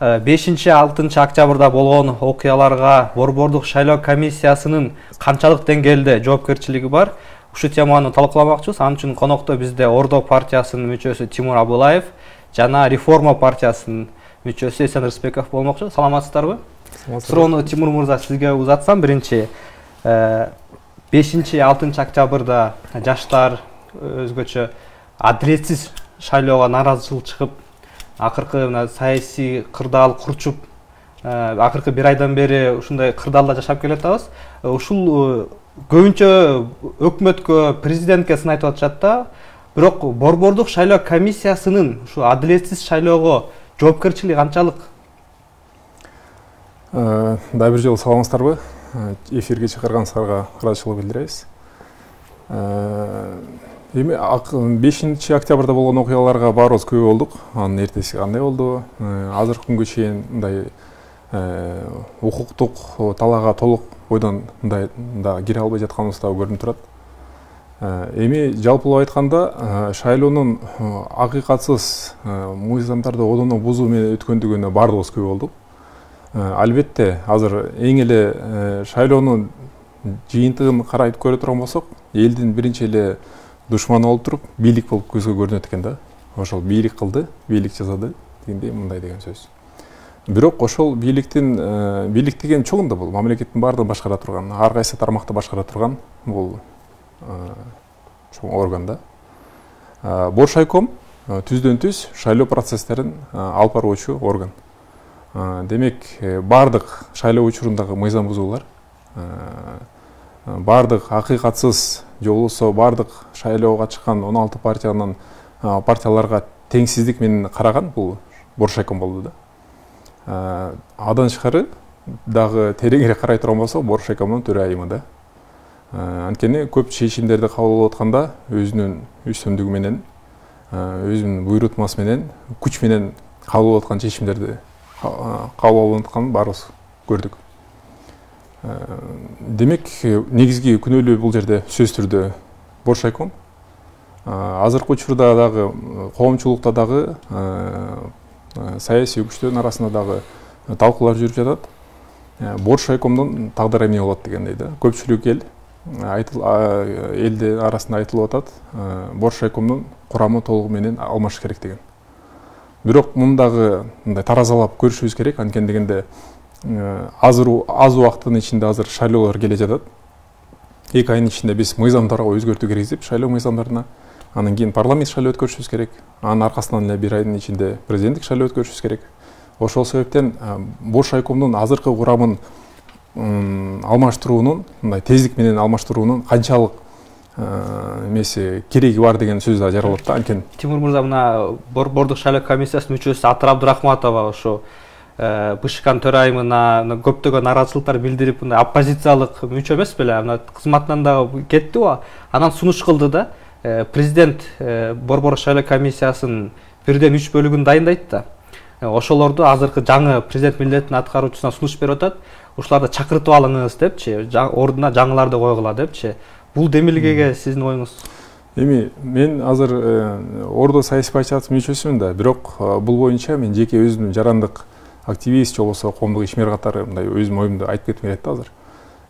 5-6 октябрда болгон окуяларга Борбордук шайлоо комиссиясынын канчалык деңгээлде жоопкерчилиги бар? Ушул теманы талкууламакчыбыз. Ал үчүн конокто бизде Ордо партиясынын мүчөсү Тимур Абылаев жана Реформа партиясынын мүчөсү Эсен Рыспеков болмокчу. Саламатсыздарбы? Суроону Тимур мырза сизге узатсам, биринчи 5-6 октябрда жаштар өзгөчө адилетсиз шайлоого нааразычылык чыгып, акыркы саясий кырдаал курчуп, акыркы бир айдан бери ушундай кырдаалда жашап келатабыз. Ушул көбүнчө өкмөткө, президентке сын айтып атышат да, бирок Борбордук шайлоо комиссиясынын ушу адилетсиз шайлоого жоопкерчилиги канчалык? Дагы бир жолу саламатсыздарбы? Эфирге чакырганыңыздарга ыраазычылык билдиребиз. Эми 5 октябрда болгон окуяларга баарыбыз күбө болдук. Анын эртеси кандай болду? Азыркы күнгө чейин мындай укуктук талаага толук ойдон мындай да кире албай жатканыбыз да көрүнүп турат. Эми жалпылап айтканда, шайлоонун акыйкатсыз мыйзамдарды одоно бузуу менен өткөндүгүнө баардыгыбыз күбө болдук. Албетте, азыр эң эле шайлоонун жыйынтыгын карайып көрө турган болсок, элдин биринчи эле душманы болуп туруп, бийлик болуп көзгө көрүнөт экен да. Ошол бийлик кылды, бийлик жасады дегендей мындай деген сөз. Бирок ошол бийлик деген чогунда бул мамлекеттин баардыгын башкара турган, ар кайсы тармакты башкара турган бул чоң орган да. Боршайком түздөн-түз шайлоо процесстерин алып баруучу орган. Демек, бардык шайлоо учурундагы мыйзам бузуулар, бардык акыйкатсыз же болбосо бардык шайлоого чыккан 16 партияларга теңсиздик менен караган бул Боршайком болду да. Адан тышкары дагы тереңирээк карай турган болсок, Боршайкомдун төрайымы да. Анткени көп чечимдерди кабыл алып атканда өзүнүн үстөмдүгү менен, өзүнүн буйрутмасы менен, күч менен кабыл алып аткан чечимдерди кабыл алып атканын баарыбыз көрдүк. Демек, негизги күнөөлүү бул жерде сөзсүз түрдө Боршайком. Азыркы учурда дагы коомчулукта дагы саясий күчтөрдүн арасында дагы талкуулар жүрүп жатат. Боршайкомдун тагдыры эмне болот дегендей да. Көпчүлүк элдин арасында айтылып атат, Боршайкомдун курамы толугу менен алмаш керек деген. Бирок мундагы мындай таразалап көрүшүбүз керек, анткени дегенде аз убакыттын ичинде азыр шайлоолор келе жатат. 2 айдын ичинде биз мыйзамдарга өзгөртүү киргизип, шайлоо мыйзамдарына, анан кийин парламент шайлоо өткөрүшүбүз керек. Анын аркасынан эле 1 айдын ичинде президенттик шайлоо өткөрүшүбүз керек. Ошол себептен Боршайкомдун азыркы курамын алмаштыруунун, мындай тездик менен алмаштыруунун канчалык кереги бар деген сөз да жаралат да. Анткени Тимур мырза, мына Борбордук шайлоо комиссиясынын мүчөсү Атыр Абдырахматова ошо БШКнын төрайымына көптөгөн нааразычылыктар билдирип, мындай оппозициялык мүчө эмес беле, кызматынан дагы кетти. Анан сунуш кылды да. Президент Борбордук шайлоо комиссиясынын 1/3 бөлүгүн дайындайт да. Ошолорду азыркы жаңы президент милдетин аткаруучусуна сунуш берип атат. Ушуларды чакыртып алыңыз депчи, ордуна жаңыларды койгула депчи. Бул демилгеге сиздин оюңуз? Эми мен азыр Ордо саясий партиясынын мүчөсүмүн да, бирок бул боюнча мен жеке өзүмдүн жарандык активист же болбосо коомдук ишмер катары мындай өзүмдүн оюмду айтып кетким келет да азыр.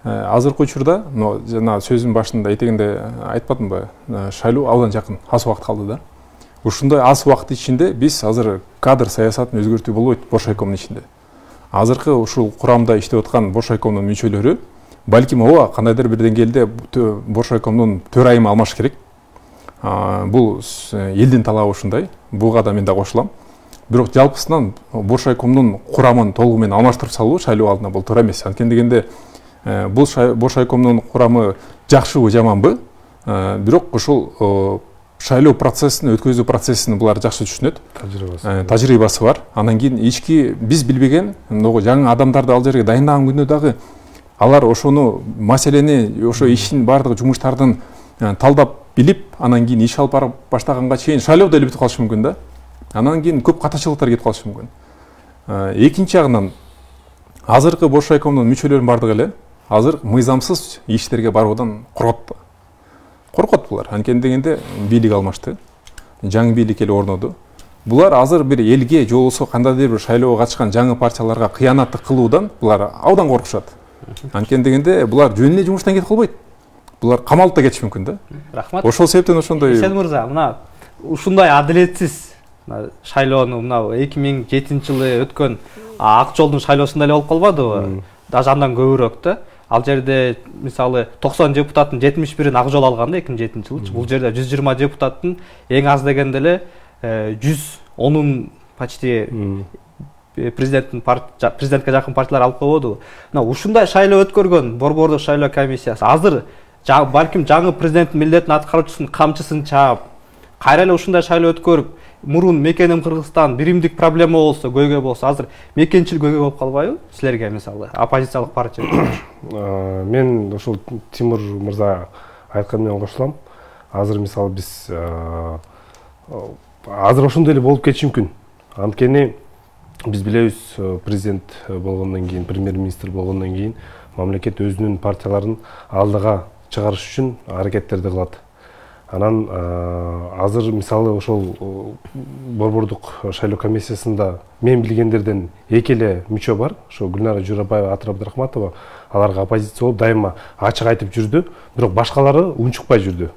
Азыркы учурда, жана сөзүмдүн башында этегинде айтпадымбы, шайлоо абдан жакын, аз убакыт калды да. Ушундай аз убакыт ичинде биз азыр кадр саясатын өзгөртүү болбойт Боршайкомдун ичинде. Азыркы ушул курамда иштеп аткан Боршайкомдун мүчөлөрү балким кандайдыр бир деңгээлде Боршайкомдун төрайымы алмаш керек. Бул элдин талабы ушундай. Буга да мен да кошулам. Бирок жалпысынан Боршайкомдун курамын толугу менен алмаштырып салуу шайлоо алдында бул туура эмес. Анткени дегенде бул Боршайкомдун курамы жакшыбы, жаманбы? Бирок ушул шайлоо процессин, өткөзүү процессин булар жакшы түшүнөт. Тажрыйбасы бар. Андан кийин ички биз билбеген жаңы адамдарды ал жерге дайындаган күндө дагы алар ошону маселени, ошо иштин бардык жумуштардын талдап билип, анан кийин иш алып барып баштаганга чейин шайлоо деле бүтүп калышы мүмкүн да. Анан кийин көп катачылыктар кетип калышы мүмкүн. Экинчи жагынан азыркы Боршайкомдун мүчөлөрүнүн бардыгы эле азыр мыйзамсыз иштерге баруудан коркот. Коркот булар. Анткени дегенде бийлик алмашты. Жаңы бийлик эле орноду. булар азыр бир элге же болбосо кандайдыр бир шайлоого катышкан жаңы партияларга кыянаттык кылуудан булар абдан коркушат. Анткени дегенде булар жөн эле жумуштан кетип калбайт. Булар камалып да кетиши мүмкүн да. Рахмат. Ошол себептен ошондой. Эсен мырза, мына ушундай адилетсиз шайлоону мына 2007-жылы өткөн Ак жолдун шайлоосунда эле болуп калбадыбы? Даже андан көбүрөөк да. Ал жерде мисалы 90 депутаттын 71-ин Ак жол алган да 2007-жылы. Бул жерде 120 депутаттын эң аз дегенде эле 110-ун почти президентке жакын партиялар алып койбодубу. Мына ушундай шайлоо өткөргөн Борбордук шайлоо комиссиясы азыр балким жаңы президенттин милдетин аткаруучусунун камчысын чаап, кайра эле ушундай шайлоо өткөрүп, мурун мекеним Кыргызстан биримдик проблема болсо, көйгөй болсо, азыр мекенчил көйгөй болуп калбайбы силерге мисалы оппозициялык партия? Мен ошол Тимур мырза айтканы менен кошулам. Азыр мисалы биз азыр ошондой эле болуп кетиши мүмкүн. Анткени биз билебиз, президент болгондон кийин, премьер-министр болгондон кийин мамлекет өзүнүн партияларын алдыга чыгарыш үчүн аракеттерди кылат. Анан азыр мисалы ошол Борбордук шайлоо комиссиясында мен билгендерден эки эле мүчө бар. Ошо Гүлнара Журабаева, Атыр Абдрахматова, аларга оппозиция болуп дайыма ачык айтып жүрдү, бирок башкалары унчукпай жүрдү.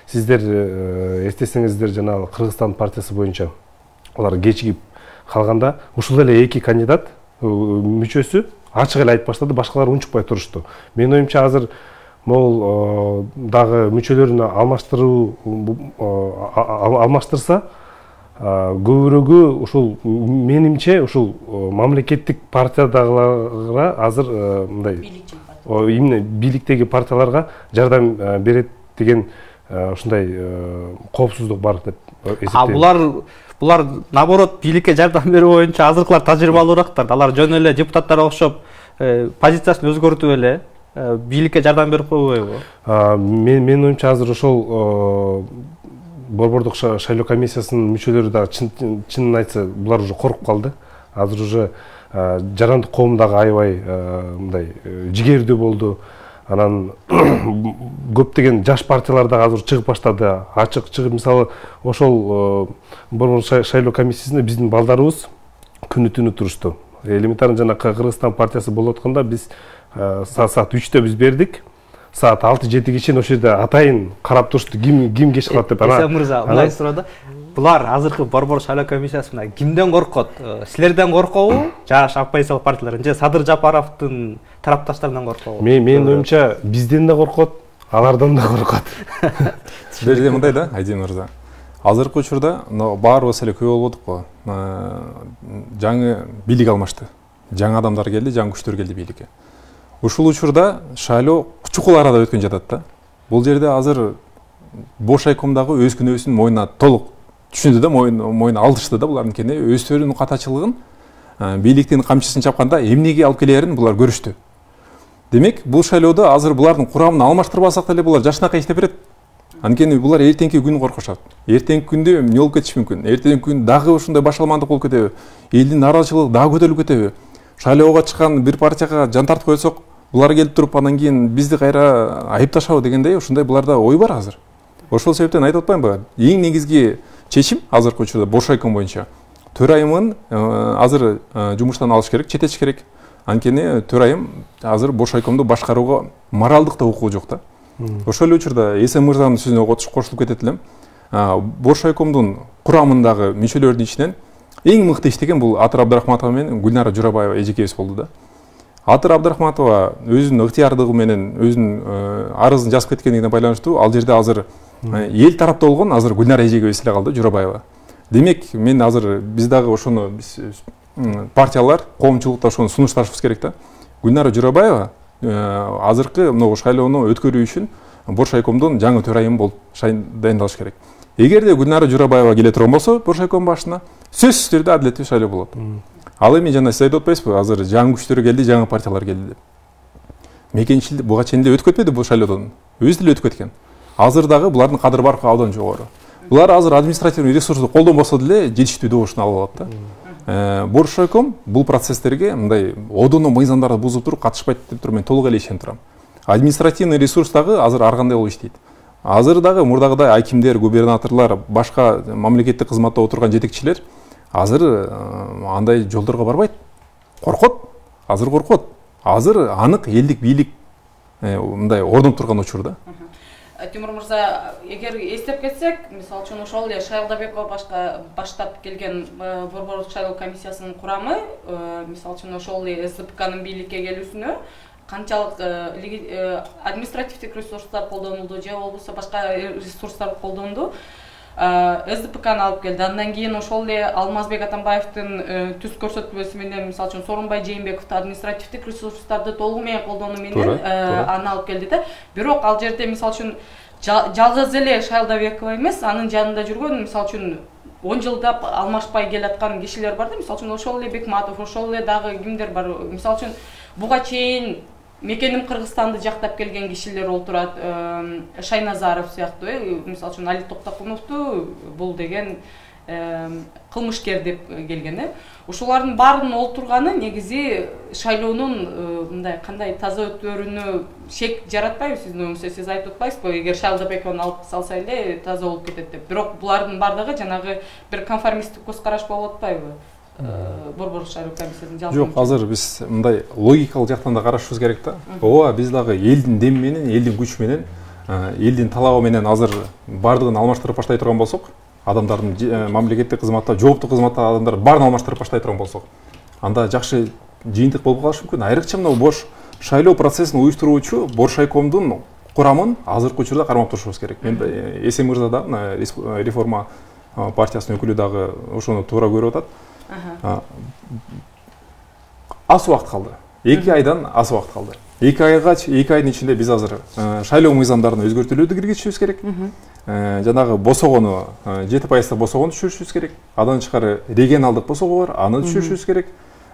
Сиздер эстесеңиздер, жанагы Кыргызстан партиясы боюнча алар кечигип калганда ушул эле эки кандидат мүчөсү ачык эле айтып баштады, башкалар унчукпай турушту. Менин оюмча азыр могул дагы мүчөлөрүн алмаштырса көбүрөгү ушул менимче ушул мамлекеттик партиядагыларга азыр мындай именно бийликтеги партияларга жардам берет деген ушундай коопсуздук бар деп эсептейм. Булар наоборот бийликке жардам берүү боюнча азыркылар тажрыйбалуураактар. Алар жөн эле депутаттарга окшоп позициясын өзгөртүп эле бийликке жардам берип койбойбу? Менин оюмча азыр ошол Борбордук шайлоо комиссиясынын мүчөлөрү дагы чынын айтса булар уже коркуп калды. Азыр уже жарандык коом дагы аябай мындай жигердүү болду. Анан көптөгөн жаш партиялар дагы азыр чыгып баштады. Ачык чыгып, мисалы ошол Борбордук шайлоо комиссиясында биздин балдарыбыз күнү түнү турушту. Элементарный жана Кыргызстан партиясы болуп атканда биз саат 3-тө биз бердик. Саат 6-7 чейин ошол жерде атайын карап турушту, ким кеч калат деп. Эсен мырза, мындай суроо. Булар азыркы Борбордук шайлоо комиссиясы менен кимден коркот? Силерден коркобу? Жаш оппозициялык партиялардан же Садыр Жапаровдун тарапташтарынан коркобу? Менин оюмча бизден да коркот, алардан да коркот. Бул жерде мындай да, Айдин мырза. Азыркы учурда баарыбыз эле күбө болдук го. Жаңы бийлик алмашты. Жаңы адамдар келди, жаңы күчтөр келди бийликке. Ушул учурда шайлоо чукул арада өткөн жатат да. Бул жерде азыр бош айкомдагы өз күнөөсүн мойнуна толук түшүндү да, мойнуна алдышты да булардын кене өздөрүнүн катачылыгын, бийликтин камчысын чапканда эмнеге алып келерин булар көрүштү. Демек, бул шайлоодо азыр булардын курамын алмаштырбасак деле булар жашынакай иштеп берет. Анткени булар эртеңки күн коркушат. Эртеңки күндө эмне болуп кетиши мүмкүн? Эртеңки күн дагы ушундай башаламандык болуп кетеби? Элдин нааразычылыгы дагы көтөрүлүп кетеби? Шайлоого чыккан бир партияга жан тартып койсок, булар келип туруп анан кийин бизди кайра айыпташабы дегендей ушундай буларда ой бар азыр. Ошол себептен айтып атпаймынбы? Эң негизги чечим азыркы учурда бош айком боюнча төрайымын азыр жумуштан алыш керек, чететиш керек. Анткени төрайым азыр бош айкомду башкарууга моралдык да укугу жок да. Ошол эле учурда Эсен мырзанын сөзүнө кошулуп кетет элем. Бош айкомдун курамындагы мүчөлөрдүн ичинен эң мыкты иштеген бул Атыр Абдрахматова менен Гүлнара Журабаева эжекебиз болду да. Атыр Абдрахматова өзүнүн ыктыярдыгы менен өзүнүн арызын жазып кеткендигине байланыштуу ал жерде азыр эл тарапта болгон азыр Гүлнара эжекебиз эле калды, Журабаева. Демек, мен азыр биз дагы ошону партиялар, коомчулукта ошону сунушташыбыз керек да. Гүлнара Журабаева азыркы мына шайлоону өткөрүү үчүн бош айкомдун жаңы төрайымы болуп дайындалыш керек. Эгерде Гүлнара Журабаева келе турган болсо бош айком башына, сөзсүз түрдө адилеттүү шайлоо болот. Ал эми жана сиз айтып атпайсызбы, азыр жаңы күчтөр келди, жаңы партиялар келди деп. Мекенчилик буга чейин эле өтүп кетпеди бул шайлоодон. Өзү деле өтүп кеткен. Азыр дагы булардын кадыр баркы абдан жогору. Булар азыр административный ресурсту колдонбосо деле жетиштүү добушун алып алат да. Бош айком бул процесстерге мындай одоно мыйзамдарды бузуп туруп катышпайт деп туруп мен толук эле ишенип турам. Административный ресурс дагы азыр ар кандай болуп иштейт. азыр дагы мурдагыдай акимдер, губернаторлор, башка мамлекеттик кызматта отурган жетекчилер азыр андай жолдорго барбайт. Коркот. Азыр коркот. Азыр анык элдик бийлик мындай ордонуп турган учур да. Тимур мырза, эгер эстеп кетсек, мисалы үчүн ошол эле Шайлдабекова баштап келген Борборлук шайлоо комиссиясынын курамы, мисалы үчүн ошол эле СДПКнын бийликке келүүсүнө канчалык административдик ресурстар колдонулду же болбосо башка ресурстар колдонду, СДПКны алып келди. Андан кийин ошол эле Алмазбек Атамбаевдин түз көрсөтмөсү менен, мисалы үчүн Сооронбай Жээнбековду административдик ресурстарды толугу менен колдонуу менен аны алып келди да. Бирок ал жерде мисалы үчүн жалгыз эле Шайлдабекова эмес, анын жанында жүргөн, мисалы үчүн 10 жылдап алмашпай келаткан кишилер бар да. Мисалы үчүн ошол эле Бекматов, ошол эле дагы кимдер бар. Мисалы үчүн буга чейин мекеним Кыргызстанды жактап келген кишилер олтурат, Шайназаров сыяктуу, мисалы үчүн Али Токтокуновду бул деген кылмышкер деп келген. Ушулардын баарынын олтурганы негизи шайлоонун мындай кандай таза өтүөрүнө шек жаратпайбы сиздин оюңузда? Сиз айтып атпайсызбы, эгер Шайлдабековну алып салса эле таза болуп кетет деп. Бирок булардын баардыгы жанагы бир конформисттик көз караш болуп атпайбы? Борборлук шайлоо комиссиясынын жалпы. Жок, азыр биз мындай логикалык жактан да карашыбыз керек да. Ооба, биз дагы элдин деми менен, элдин күчү менен, элдин талабы менен азыр баардыгын алмаштырып баштай турган болсок, адамдардын мамлекеттик кызматта, жооптуу кызматта адамдар баарын алмаштырып баштай турган болсок, анда жакшы жыйынтык болуп калышы мүмкүн. Айрыкча мына бош шайлоо процессин уюштуруучу Боршайкомдун курамын азыркы учурда кармап турушубуз керек. Мен Эсен мырза да реформа партиясынын өкүлү дагы ошону туура көрүп атат. Аз убакыт калды. 2 айдан аз убакыт калды. 2 айдын ичинде биз азыр шайлоо мыйзамдарын өзгөртүүлөрдү киргизишибиз керек. Жанагы босогону 7% босогону түшүрүшүбүз керек. Андан тышкары регионалдык босого бар, аны түшүрүшүбүз керек.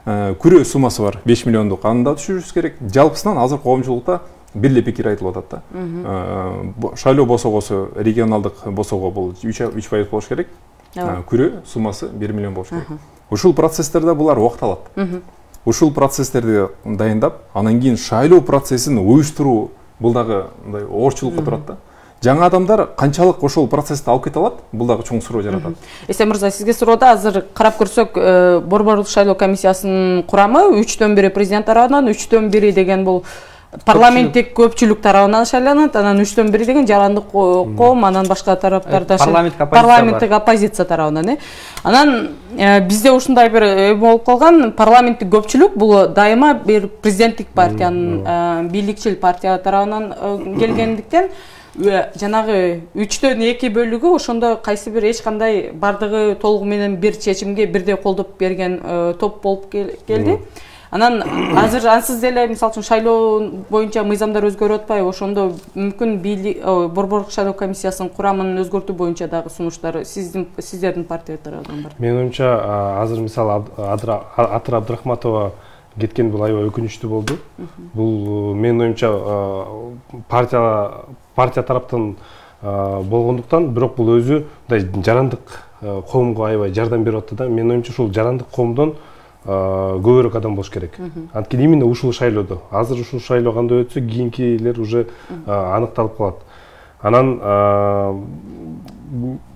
Күрөө суммасы бар 5 миллиондук, аны да түшүрүшүбүз керек. Жалпысынан азыр коомчулукта бир эле пикир айтылып атат да. Шайлоо босогосу, регионалдык босого бул 3% болуш керек. Күрөө суммасы 1 миллион болуш керек. Ушул процесстерде булар убакыт алат. Ушул процесстерди дайындап, анан кийин шайлоо процессин уюштуруу бул дагы мындай оорчулукка турат да. Жаңа адамдар канчалык ошол процессти алып кете алат, бул дагы чоң суроо жаратат. Эсен мырза, сизге суроода азыр карап көрсөк, Борборлук шайлоо комиссиясынын курамы 3/1 президент тарабынан, 3/1 деген бул парламенттик көпчүлүк тарабынан шайланат, анан 3/1 деген жарандык коом, анан башка тараптарда парламенттик оппозиция тарабынан. Анан бизде ушундай бир болуп калган, парламенттик көпчүлүк бул дайыма бир президенттик партиянын, бийликчил партия тарабынан келгендиктен жанагы 3/2 бөлүгү ошондо кайсы бир эч кандай бардыгы толугу менен бир чечимге бирдей колдоп берген топ болуп келди. Анан азыр ансыз деле мисалы үчүн шайлоо боюнча мыйзамдар өзгөрүп атпайбы? Ошондо мүмкүн Борборлук шайлоо комиссиясынын курамын өзгөртүү боюнча дагы сунуштар сиздердин партия тарабынан бар. Менин оюмча азыр мисалы Атыр Абдрахматова кеткен бул аябай өкүнүчтүү болду. Бул менин оюмча партия тараптан болгондуктан, бирок бул өзү жарандык коомго аябай жардам берип атты да. Менин оюмча ушул жарандык коомдон көбүрөөк адам болуш керек. Анткени именно ушул шайлоодо, азыр ушул шайлоо кандай өтсө, кийинкилер уже аныкталып калат. Анан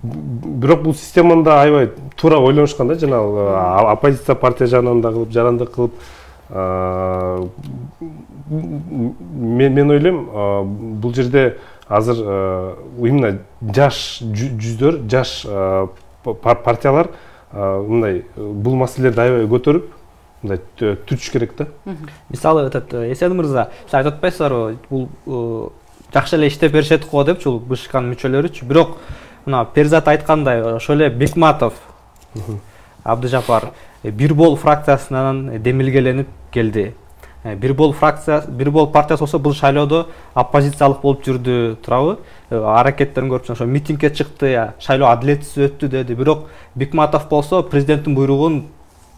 бирок бул системаны да аябай туура ойлонушкан да, жана оппозиция партия жагынан да кылып, жарандык кылып. Мен ойлойм, бул жерде азыр именно жаш жүздөр, жаш партиялар мындай бул маселелерди аябай көтөрүп, мындай түзүш керек да. Мисалы Эсен мырза, сиз айтып атпайсыздарбы, бул жакшы эле иштеп беришет го депчи, бул БШКнын мүчөлөрүчү. Бирок мына Перзат айткандай, ошол эле Бекматов, Абдыжапар бир бол фракциясынан демилгеленип келди. Бир бол партиясы болсо бул шайлоодо оппозициялык болуп жүрдү, турабы? Аракеттерин көрүп, ошо митингге чыкты, шайлоо адилетсиз өттү деди. Бирок Бекматов болсо президенттин буйругун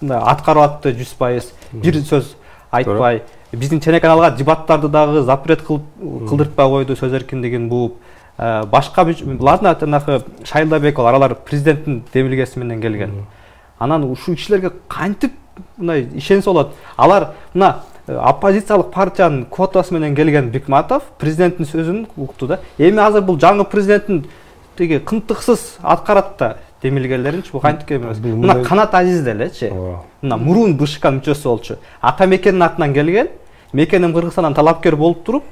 аткарып атты 100%. Бир сөз айтпай, биздин телеканалга дебаттарды дагы запрет кылдыртпай койду, сөз эркиндигин бууп. Башка ладно, жанагы Шайлдабеков, алар президенттин демилгеси менен келген. Анан ушул кишилерге кантип мындай ишенсе болот? Алар мына оппозициялык партиянын квотасы менен келген Бикматов президенттин сөзүн укту да. Эми азыр бул жаңы президенттин тиги кынтыксыз аткарат да демилгелеринчи, бул кантип эмес. Мына Канат Азиз делечи. Мына мурун БШК мүчөсү болчу. Ата мекенин атынан келген, мекеним Кыргызстандан талапкер болуп туруп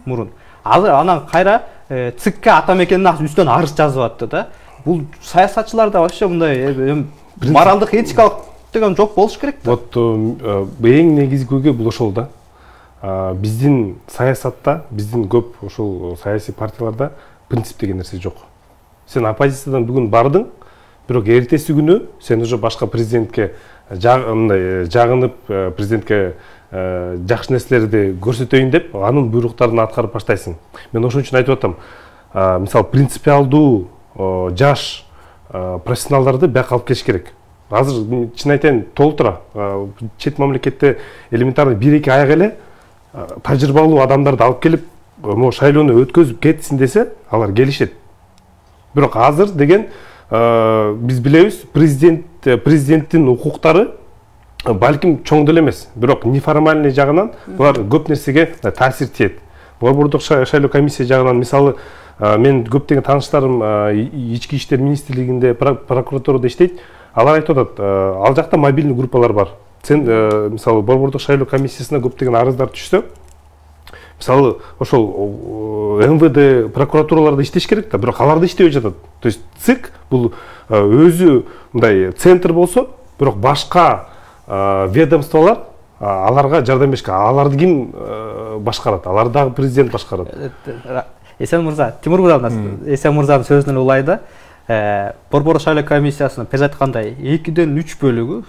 мурун. Азыр анан кайра ЦИКке ата мекенин үстүнөн арыз жазып атты да. Бул саясатчыларда вообще мындай моралдык, этикалык деген жок болуш керек да. Вот эң негизгиги бул ошол да. Биздин саясатта, биздин көп ошол саясий партияларда принцип деген нерсе жок. Сен оппозициядан бүгүн бардың, бирок эртеси күнү сен уже башка президентке жагынып, президентке жакшы нерселерди көрсөтөйүн деп, анын буйруктарын аткарып баштайсың. Мен ошон үчүн айтып атам, мисалы принципиалдуу жаш профессионалдарды бияка алып келиш керек. Азыр чын айтайын толтура чет мамлекетте элементарный 1-2 аяк эле тажрыйбалуу адамдарды алып келип, могу шайлоону өткөзүп кетсин десе, алар келишет. Бирок азыр деген биз билебиз, президенттин укуктары балким чоң деле эмес, бирок неформальный жагынан булар көп нерсеге таасир тиет. Борбордук шайлоо комиссия жагынан мисалы мен көптөгөн тааныштарым ички иштер министрлигинде, прокуратурада иштейт. Алар айтып атат, ал жакта мобильный группалар бар. Сен мисалы борбордук шайлоо комиссиясына көптөгөн арыздар түшсө, мисалы ошол МВД прокуратураларда иштеш керек да, бирок алар да иштебей жатат. То есть ЦИК бул өзү мындай центр болсо, бирок башка ведомстволар аларга жардам беришке, аларды ким башкарат? Алар дагы президент башкарат. Эсен мырза, Тимур мырза, Эсен мырзанын сөзүнөн улайда, борбордук шайлоо комиссиясынын тез айткандай 2-ден 3 бөлүгү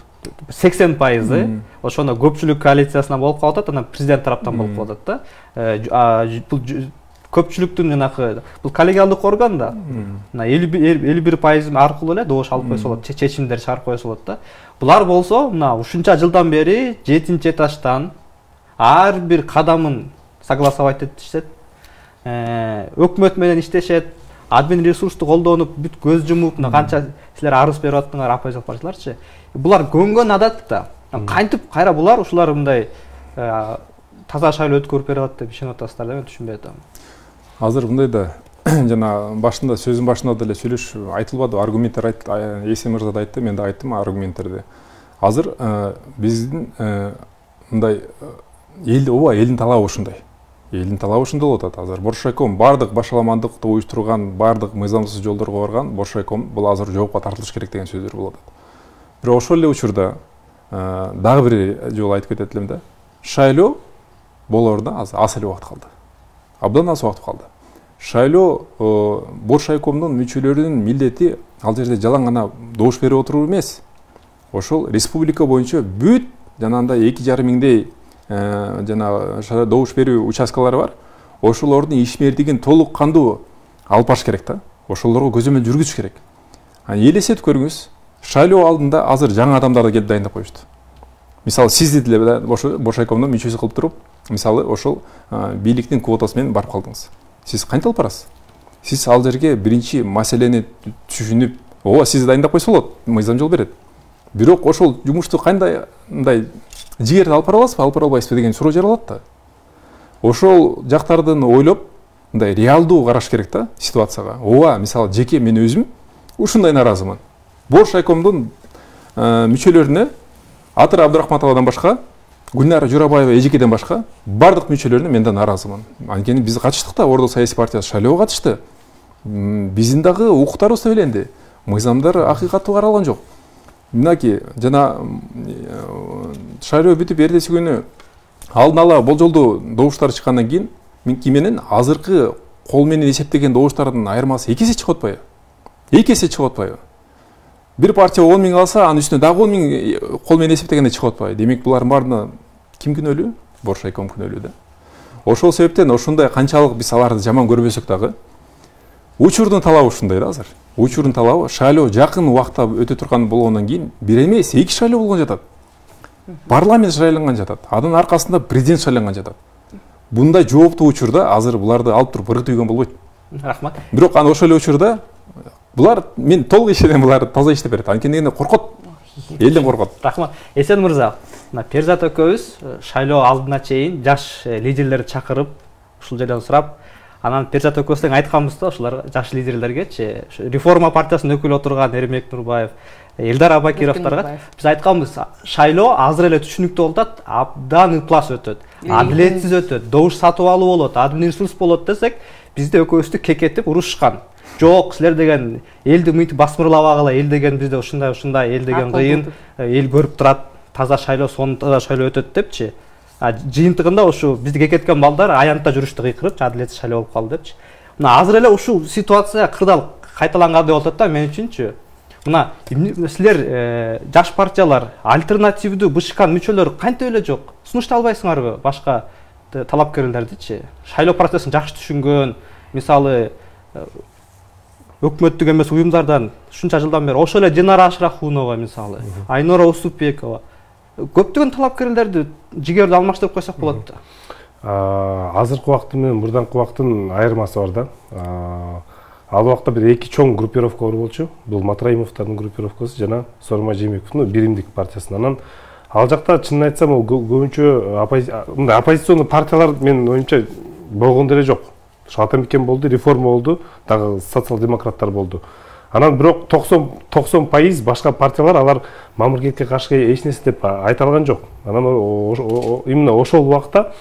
80% ошондо көпчүлүк коалициясынан болуп калып атат, анан президент тараптан болуп калып атат да. Бул көпчүлүктүн жанагы бул коллегиалдык орган да. Мына 51% аркылуу эле добуш алып койсо болот, чечимдер чыгарып койсо болот да. Булар болсо, мына ушунча жылдан бери 7-этаждан ар бир кадамын согласовать этишет. Өкмөт менен иштешет, админ ресурсту колдонуп, бүт көз жумуп, мына канча силер арыз берип аттыңар оппозициялык партияларчы. Булар көнгөн адат да. Кантип кайра булар ушулар мындай таза шайлоо өткөрүп берип атат деп ишенип атасыздар да, мен түшүнбөй атам. Азыр мындай да, жана башында сөзүн башында деле сүйлөш айтылбады, аргументтер айтты, Эсен мырза да айтты, мен да айттым аргументтерди. Азыр биздин мындай элдин талабы ушундай. Элдин талабы ушундай болуп атат. Азыр Боршайком бардык башаламандыкты уюштурган, бардык мыйзамсыз жолдорго барган Боршайком бул азыр жоопко тартылыш керек деген сөздөр болуп атат. Бирок ошол эле учурда дагы бир жолу айтып кетет элем да. Шайлоо болооруна азыр аз эле убакыт калды. Абдан аз убакыт калды. Шайлоо Боршайкомдун мүчөлөрүнүн милдети ал жерде жалаң гана добуш берип отуруу эмес. Ошол республика боюнча бүт жанагындай 2,5 миңдей жана добуш берүү участкалары бар. Ошолордун ишмердигин толук кандуу алып барыш керек да. Ошолорго көзөмөл жүргүзүш керек. Элестетип көрүңүз, шайлоо алдында азыр жаңы адамдарды келип дайындап коюшту. Мисалы сизди деле Боршайкомдун мүчөсү кылып туруп, мисалы ошол бийликтин квотасы менен барып калдыңыз. Сиз кантип алып барасыз? Сиз ал жерге биринчи маселени түшүнүп, ооба сизди дайындап койсо болот, мыйзам жол берет. Бирок ошол жумушту кандай мындай жигерди алып бара аласызбы, алып бара албайсызбы деген суроо жаралат да. Ошол жактардын ойлоп, мындай реалдуу караш керек да ситуацияга. Ооба, мисалы жеке мен өзүм ушундай наразымын. Боршайкомдун мүчөлөрүнө Атыр Абдурахматовадан башка, Гүлнара Журабаева эжекеден башка бардык мүчөлөрүнө мен да наразымын. Анткени биз катыштык да, Ордо саясий партиясы шайлоого катышты. Биздин дагы укуктарыбыз беленди. Мыйзамдар акыйкаттуу каралган жок. Мынакей жана шайлоо бүтүп эртеси күнү алдын ала болжолдуу добуштар чыккандан кийин менен азыркы кол менен эсептеген добуштардын айырмасы 2 эсе чыгып атпайбы? 2 эсе чыгып атпайбы? Бир партия 10 миң алса, анын үстүнө дагы 10 миң кол менен эсептегенде чыгып атпайбы? Демек булардын баарына ким күнөөлүү? Боршайком күнөөлүү да. Ошол себептен ошондой канчалык биз аларды жаман көрбөсөк дагы, учурдун талабы ушундай да азыр. Учурдун талабы шайлоо жакын убакта өтө турган болгондон кийин бир эмес, 2 шайлоо болгон жатат. Парламент шайланган жатат. Анын аркасында президент шайланган жатат. Bunday жооптуу учурда азыр буларды алып туруп ыргытып ийген болбойт. Рахмат. Бирок ошол эле учурда булар мен толук ишенем, булар таза иштеп берет. Анткени коркот. элден коркот. Рахмат. Эсен мырза, мына Перзат экөөбүз шайлоо алдына чейин жаш лидерлерди чакырып, ушул жерден сурап, анан Перзат экөөбүз айтканбыз да, ушулар жаш лидерлергечи, реформа партиясынын өкүлү отурган Эрмек Нурбаев, Элдар Абакировдорго биз айтканбыз, шайлоо азыр эле түшүнүктүү болуп атат, абдан ыплас өтөт, адилетсиз өтөт, добуш сатып алуу болот, админ ресурс болот десек, бизде экөөбүздү кекетип урушкан. Жок, силер деген элди мынтип басмырлабагыла, эл деген бизде ушундай, эл деген кыйын, эл көрүп турат, таза шайлоо, сонун таза шайлоо өтөт депчи. Жыйынтыгында ушу бизди кекеткен балдар аянтта жүрүштү кыйкырып, адилетсиз шайлоо болуп калды депчи. Мына азыр эле ушул ситуация кырдаал кайталангандай болуп атат да мен үчүнчү. Мына силер жаш партиялар, альтернативдүү БШКнын мүчөлөрү кантип эле жок? Сунуштай албайсыңарбы башка талапкерлердичи? Шайлоо процессин жакшы түшүнгөн, мисалы өкмөттүк эмес уюмдардан ушунча жылдан бери ошол эле Динара Ашрахунова мисалы, Айнора Усупбекова көптөгөн талапкерлерди жигерди алмаштырып койсок болот да. Азыркы убакыт менен мурданкы убакыттын айырмасы бар да. Ал убакта бир эки чоң группировка бар болчу. Бул Матраимовдордун группировкасы жана Сооронбай Жээнбековдун биримдик партиясынан. Ал жакта чынын айтсам, ал көбүнчө мындай оппозиционный партиялар менин оюмча болгон деле жок. Атамекен болду, реформа болду, дагы социал-демократтар болду. Анан бирок 90% башка партиялар алар мамлекетке каршы эч нерсе деп айта алган жок. Анан именно ошол убакта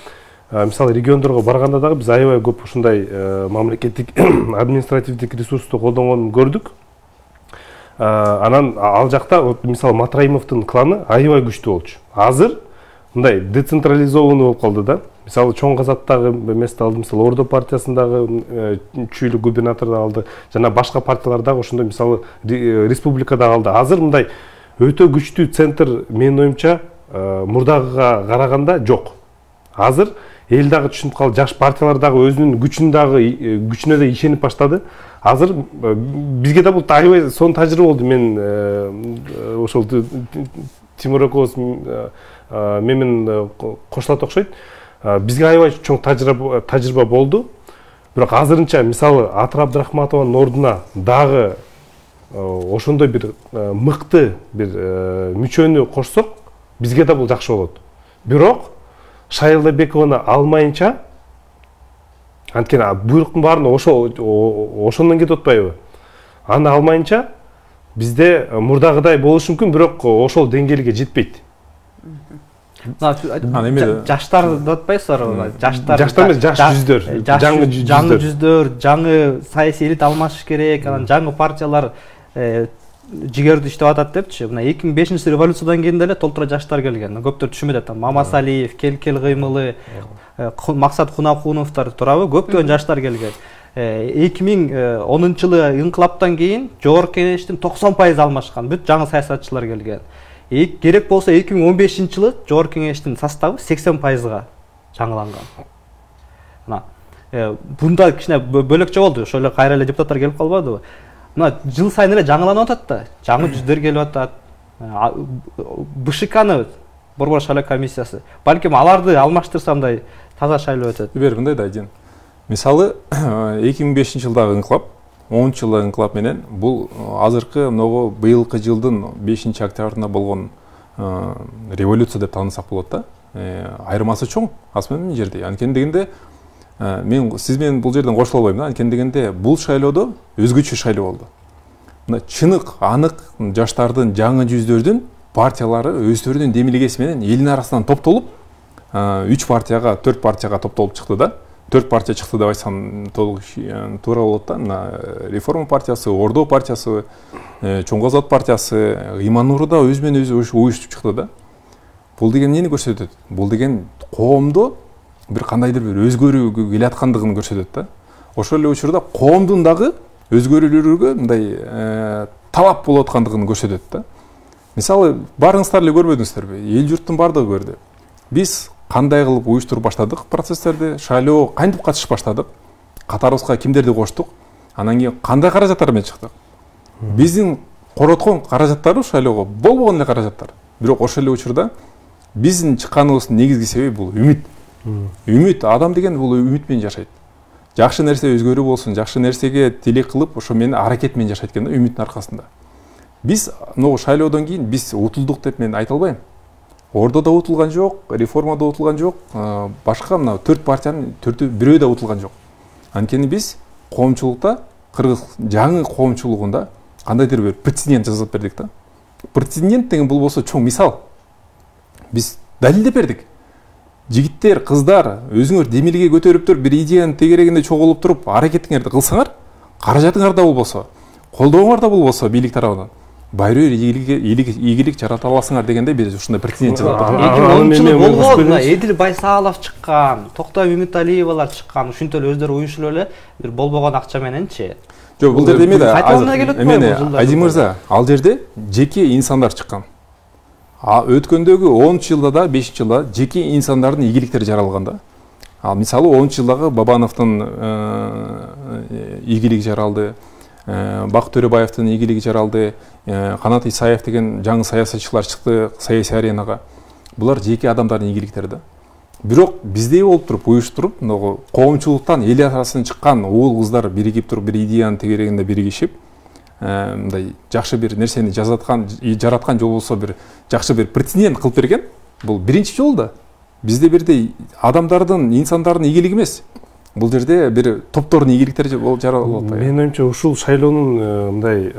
мисалы региондорго барганда дагы биз аябай көп ушундай мамлекеттик административдик ресурсту колдонгонун көрдүк. Анан ал жакта мисалы Матраимовдун кланы аябай күчтүү болчу. Азыр мындай децентрализованный болуп калды да. Мисалы чоң казаттагы эмести алды, мисалы Ордо партиясындагы чүйлү губернаторду алды, жана башка партиялар дагы ошондой мисалы республикада алды. Азыр мындай өтө күчтүү центр менин оюмча мурдагыга караганда жок. Азыр эл дагы түшүнүп калды, жаш партиялар дагы өзүнүн күчүнө да ишенип баштады. Азыр бизге да бул аябай сонун тажрыйба болду. Мен ошол Тимур экөөбүз менен кошулат окшойт. Бизге аябай чоң тажрыйба болду. Бирок азырынча мисалы Атыр Абдрахматованын ордуна дагы ошондой бир мыкты бир мүчөнү кошсок, бизге да бул жакшы болот. Бирок Шайлдабекованы алмайынча, анткени буйруктун баарын ошондон кетип атпайбы? Аны алмайынча бизде мурдагыдай болушу мүмкүн, бирок ошол деңгээлге жетпейт. Жаштар деп атпайсыздарбы? Жаштар эмес, жаш жүздөр, жаңы жүздөр, жаңы саясий элит алмашыш керек, анан жаңы партиялар жигерди иштеп атат депчи. Мына 2005 революциядан кийин деле толтура жаштар келген. Көптөр түшүнбөйт атам. Мамасалиев, Келкел кыймылы, Максат Кунакуновдор турабы көптөгөн жаштар келген. 2010 жылы инкылаптан кийин жогорку кеңештин 90% алмашкан, бүт жаңы саясатчылар келген. Керек болсо 2015 жылы жогорку кеңештин составы 80%га жаңыланган. Мына бунда кичине бөлөкчө болду. Ошол эле кайра эле депутаттар келип калбадыбы? Мына жыл сайын эле жаңыланып атат да. Жаңы жүздөр келип атат. БШКны Борбор шайлоо комиссиясы. Балким аларды алмаштырса мындай таза шайлоо өтөт. Бер мындай да Жин. Мисалы 2005 жылдагы инкылап, 10 жылдагы инкылап менен бул азыркы могу быйылкы жылдын 5 октябрында болгон революция деп таанысак болот да. Айырмасы чоң асман жерде. Анткени дегенде мен сиз менен бул жерден кошула албайм да. Анткени дегенде бул шайлоодо өзгөчө шайлоо болду. Мына чынык, анык жаштардын, жаңы жүздөрдүн партиялары өздөрүнүн демилгеси менен элдин арасынан топтолуп 3 партияга, 4 партияга топтолуп чыкты да. 4 партия чыкты деп айтсам толук туура болот да. Мына Реформа партиясы, Ордо партиясы, Чоң Казат партиясы, Имануруда өзү менен өзү уюштуп чыкты да. Бул деген эмнени көрсөтөт? Бул деген коомдо бир кандайдыр бир өзгөрүү келаткандыгын көрсөтөт да. Ошол эле учурда коомдун дагы өзгөрүүлөргө мындай талап болуп аткандыгын көрсөтөт да. Мисалы барыңыздар эле көрбөдүңүздөрбү? Эл журттун бардыгы көрдү. Биз кандай кылып уюштуруп баштадык процесстерди, шайлоо кантип катышып баштадык, катарыбызга кимдерди коштук, анан кийин кандай каражаттар менен чыктык. Биздин короткон каражаттары шайлоого болбогон эле каражаттар. Бирок ошол эле учурда биздин чыкканыбыздын негизги себеби бул үмүт. Үмүт, адам деген бул үмүт менен жашайт. Жакшы нерсе өзгөрүү болсун, жакшы нерсеге тилек кылып, ошо менен аракет менен жашайт экен да, үмүттүн аркасында. Биз могу шайлоодон кийин биз утулдук деп мен айта албайм. Ордо да утулган жок, реформада утулган жок, башка мына 4 партиянын 4-ü бирөө да утулган жок. Анткени биз коомчулукта, кыргыз жаңы коомчулугунда кандайдыр бир прецедент жасап бердик да. Прецедент деген бул болсо чоң мисал. Биз далилдеп бердик. Жигиттер, кыздар өзүңөр демилге көтөрүп туруп, бир идеянын тегерегинде чогулуп туруп, аракетиңерди кылсаңар, каражатыңар да болбосо, колдооңор да болбосо бийлик тарабынан байрый ийгилик жарата аласыңар дегенде биз ушундай прецедент жасап турдук. 2010 болгон Эдил Байсалов чыккан, Токтой Мемиталиевалар чыккан, ушинтип өздөрү уюшуп эле бир болбогон акча мененчи. Жок, бул жерде эмне Азим мырза, ал жерде жеке инсандар чыккан. Өткөндөгү 10 жылда да 5 жылда жеке инсандардын ийгиликтери жаралган да. Ал мисалы 10 жылдагы Бабановдун ийгилиги жаралды, Бак Төрөбаевдин ийгилиги жаралды, Канат Исаев деген жаңы саясатчылар чыкты саясий аренага. Булар жеке адамдардын ийгиликтери да. Бирок биздей болуп туруп, уюштуруп, могу коомчулуктан эл арасынан чыккан уул кыздар биригип туруп, бир идеянын тегерегинде биригишип, мындай жакшы бир нерсени жараткан жол болсо, бир жакшы бир прецедент кылып берген. Бул биринчи жол да. Бизде бирдей адамдардын, инсандардын ийгилиги эмес. Бул жерде бир топтордун ийгиликтери жаралып атпайбы? Менин оюмча ушул шайлоонун мындай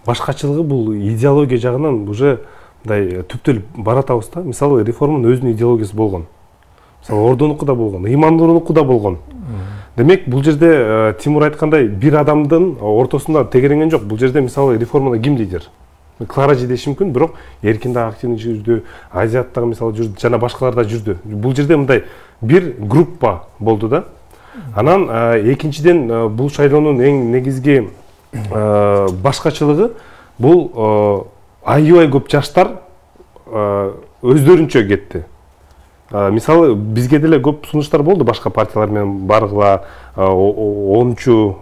башкачылыгы бул идеология жагынан уже мындай түптөлүп баратабыз да. Мисалы реформанын өзүнүн идеологиясы болгон. Мисалы Ордонуку да болгон, Имандууруку да болгон. Демек, бул жерде Тимур айткандай бир адамдын ортосунда тегеренген жок. Бул жерде мисалы реформада ким лидер? Клара жедеши мүмкүн, бирок Эркин да активный жүрдү, Азият дагы мисалы жүрдү, жана башкалар да жүрдү. Бул жерде мындай бир группа болду да. Анан экинчиден бул шайлоонун эң негизги башкачылыгы бул аябай көп жаштар өздөрүнчө кетти. Мисалы бизге деле көп сунуштар болду башка партиялар менен баргыла 10-чу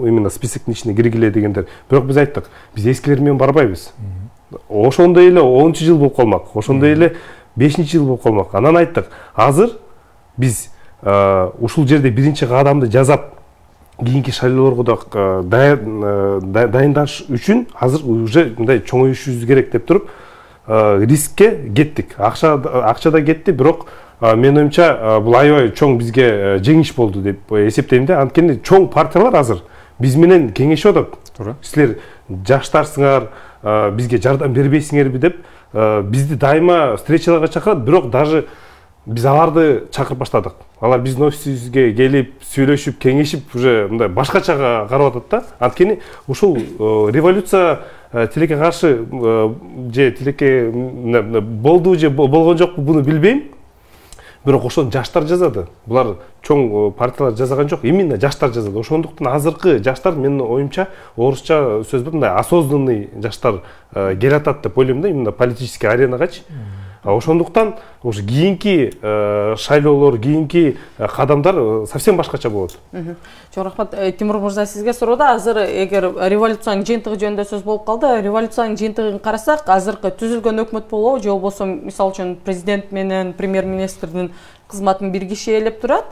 именно списоктун ичине киргиле дегендер. Бирок биз айттык, биз эскилер менен барбайбыз. Ошондой эле 10-чу жыл болуп калмак, ошондой эле 5-чи жыл болуп калмак. Анан айттык, азыр биз ушул жерде биринчи кадамды жасап, кийинки шайлоолорго да дайындаш үчүн азыр уже мындай чоңоюшубуз керек деп туруп рискке кеттик. Акча да кетти, бирок менин оюмча бул аябай чоң бизге жеңиш болду деп эсептейм да. Анткени чоң партиялар азыр биз менен кеңешип атат. Силер жаштарсыңар, бизге жардам бербейсиңерби деп бизди дайыма встречаларга чакырат, бирок даже биз аларды чакырып баштадык. Алар биздин офисибизге келип, сүйлөшүп, кеңешип, уже мындай башкача карап атат да. Анткени ушул революция тилекке каршы же тилекке болду же болгон жокпу буну билбейм. Бирок ошону жаштар жазады. Булар чоң партиялар жазган жок, именно жаштар жазады. Ошондуктан азыркы жаштар менин оюмча орусча сөз бар, мындай осознанный жаштар келатат деп ойлойм да, именно политический аренагачы. Ошондуктан уже кийинки шайлоолор, кийинки кадамдар совсем башкача болот. Чоң рахмат. Тимур мырза, сизге суроо. Азыр эгер революциянын жыйынтыгы жөнүндө сөз болуп калды, революциянын жыйынтыгын карасак, азыркы түзүлгөн өкмөт болобу же болбосо мисалы үчүн президент менен премьер-министрдин кызматын бир киши ээлеп турат.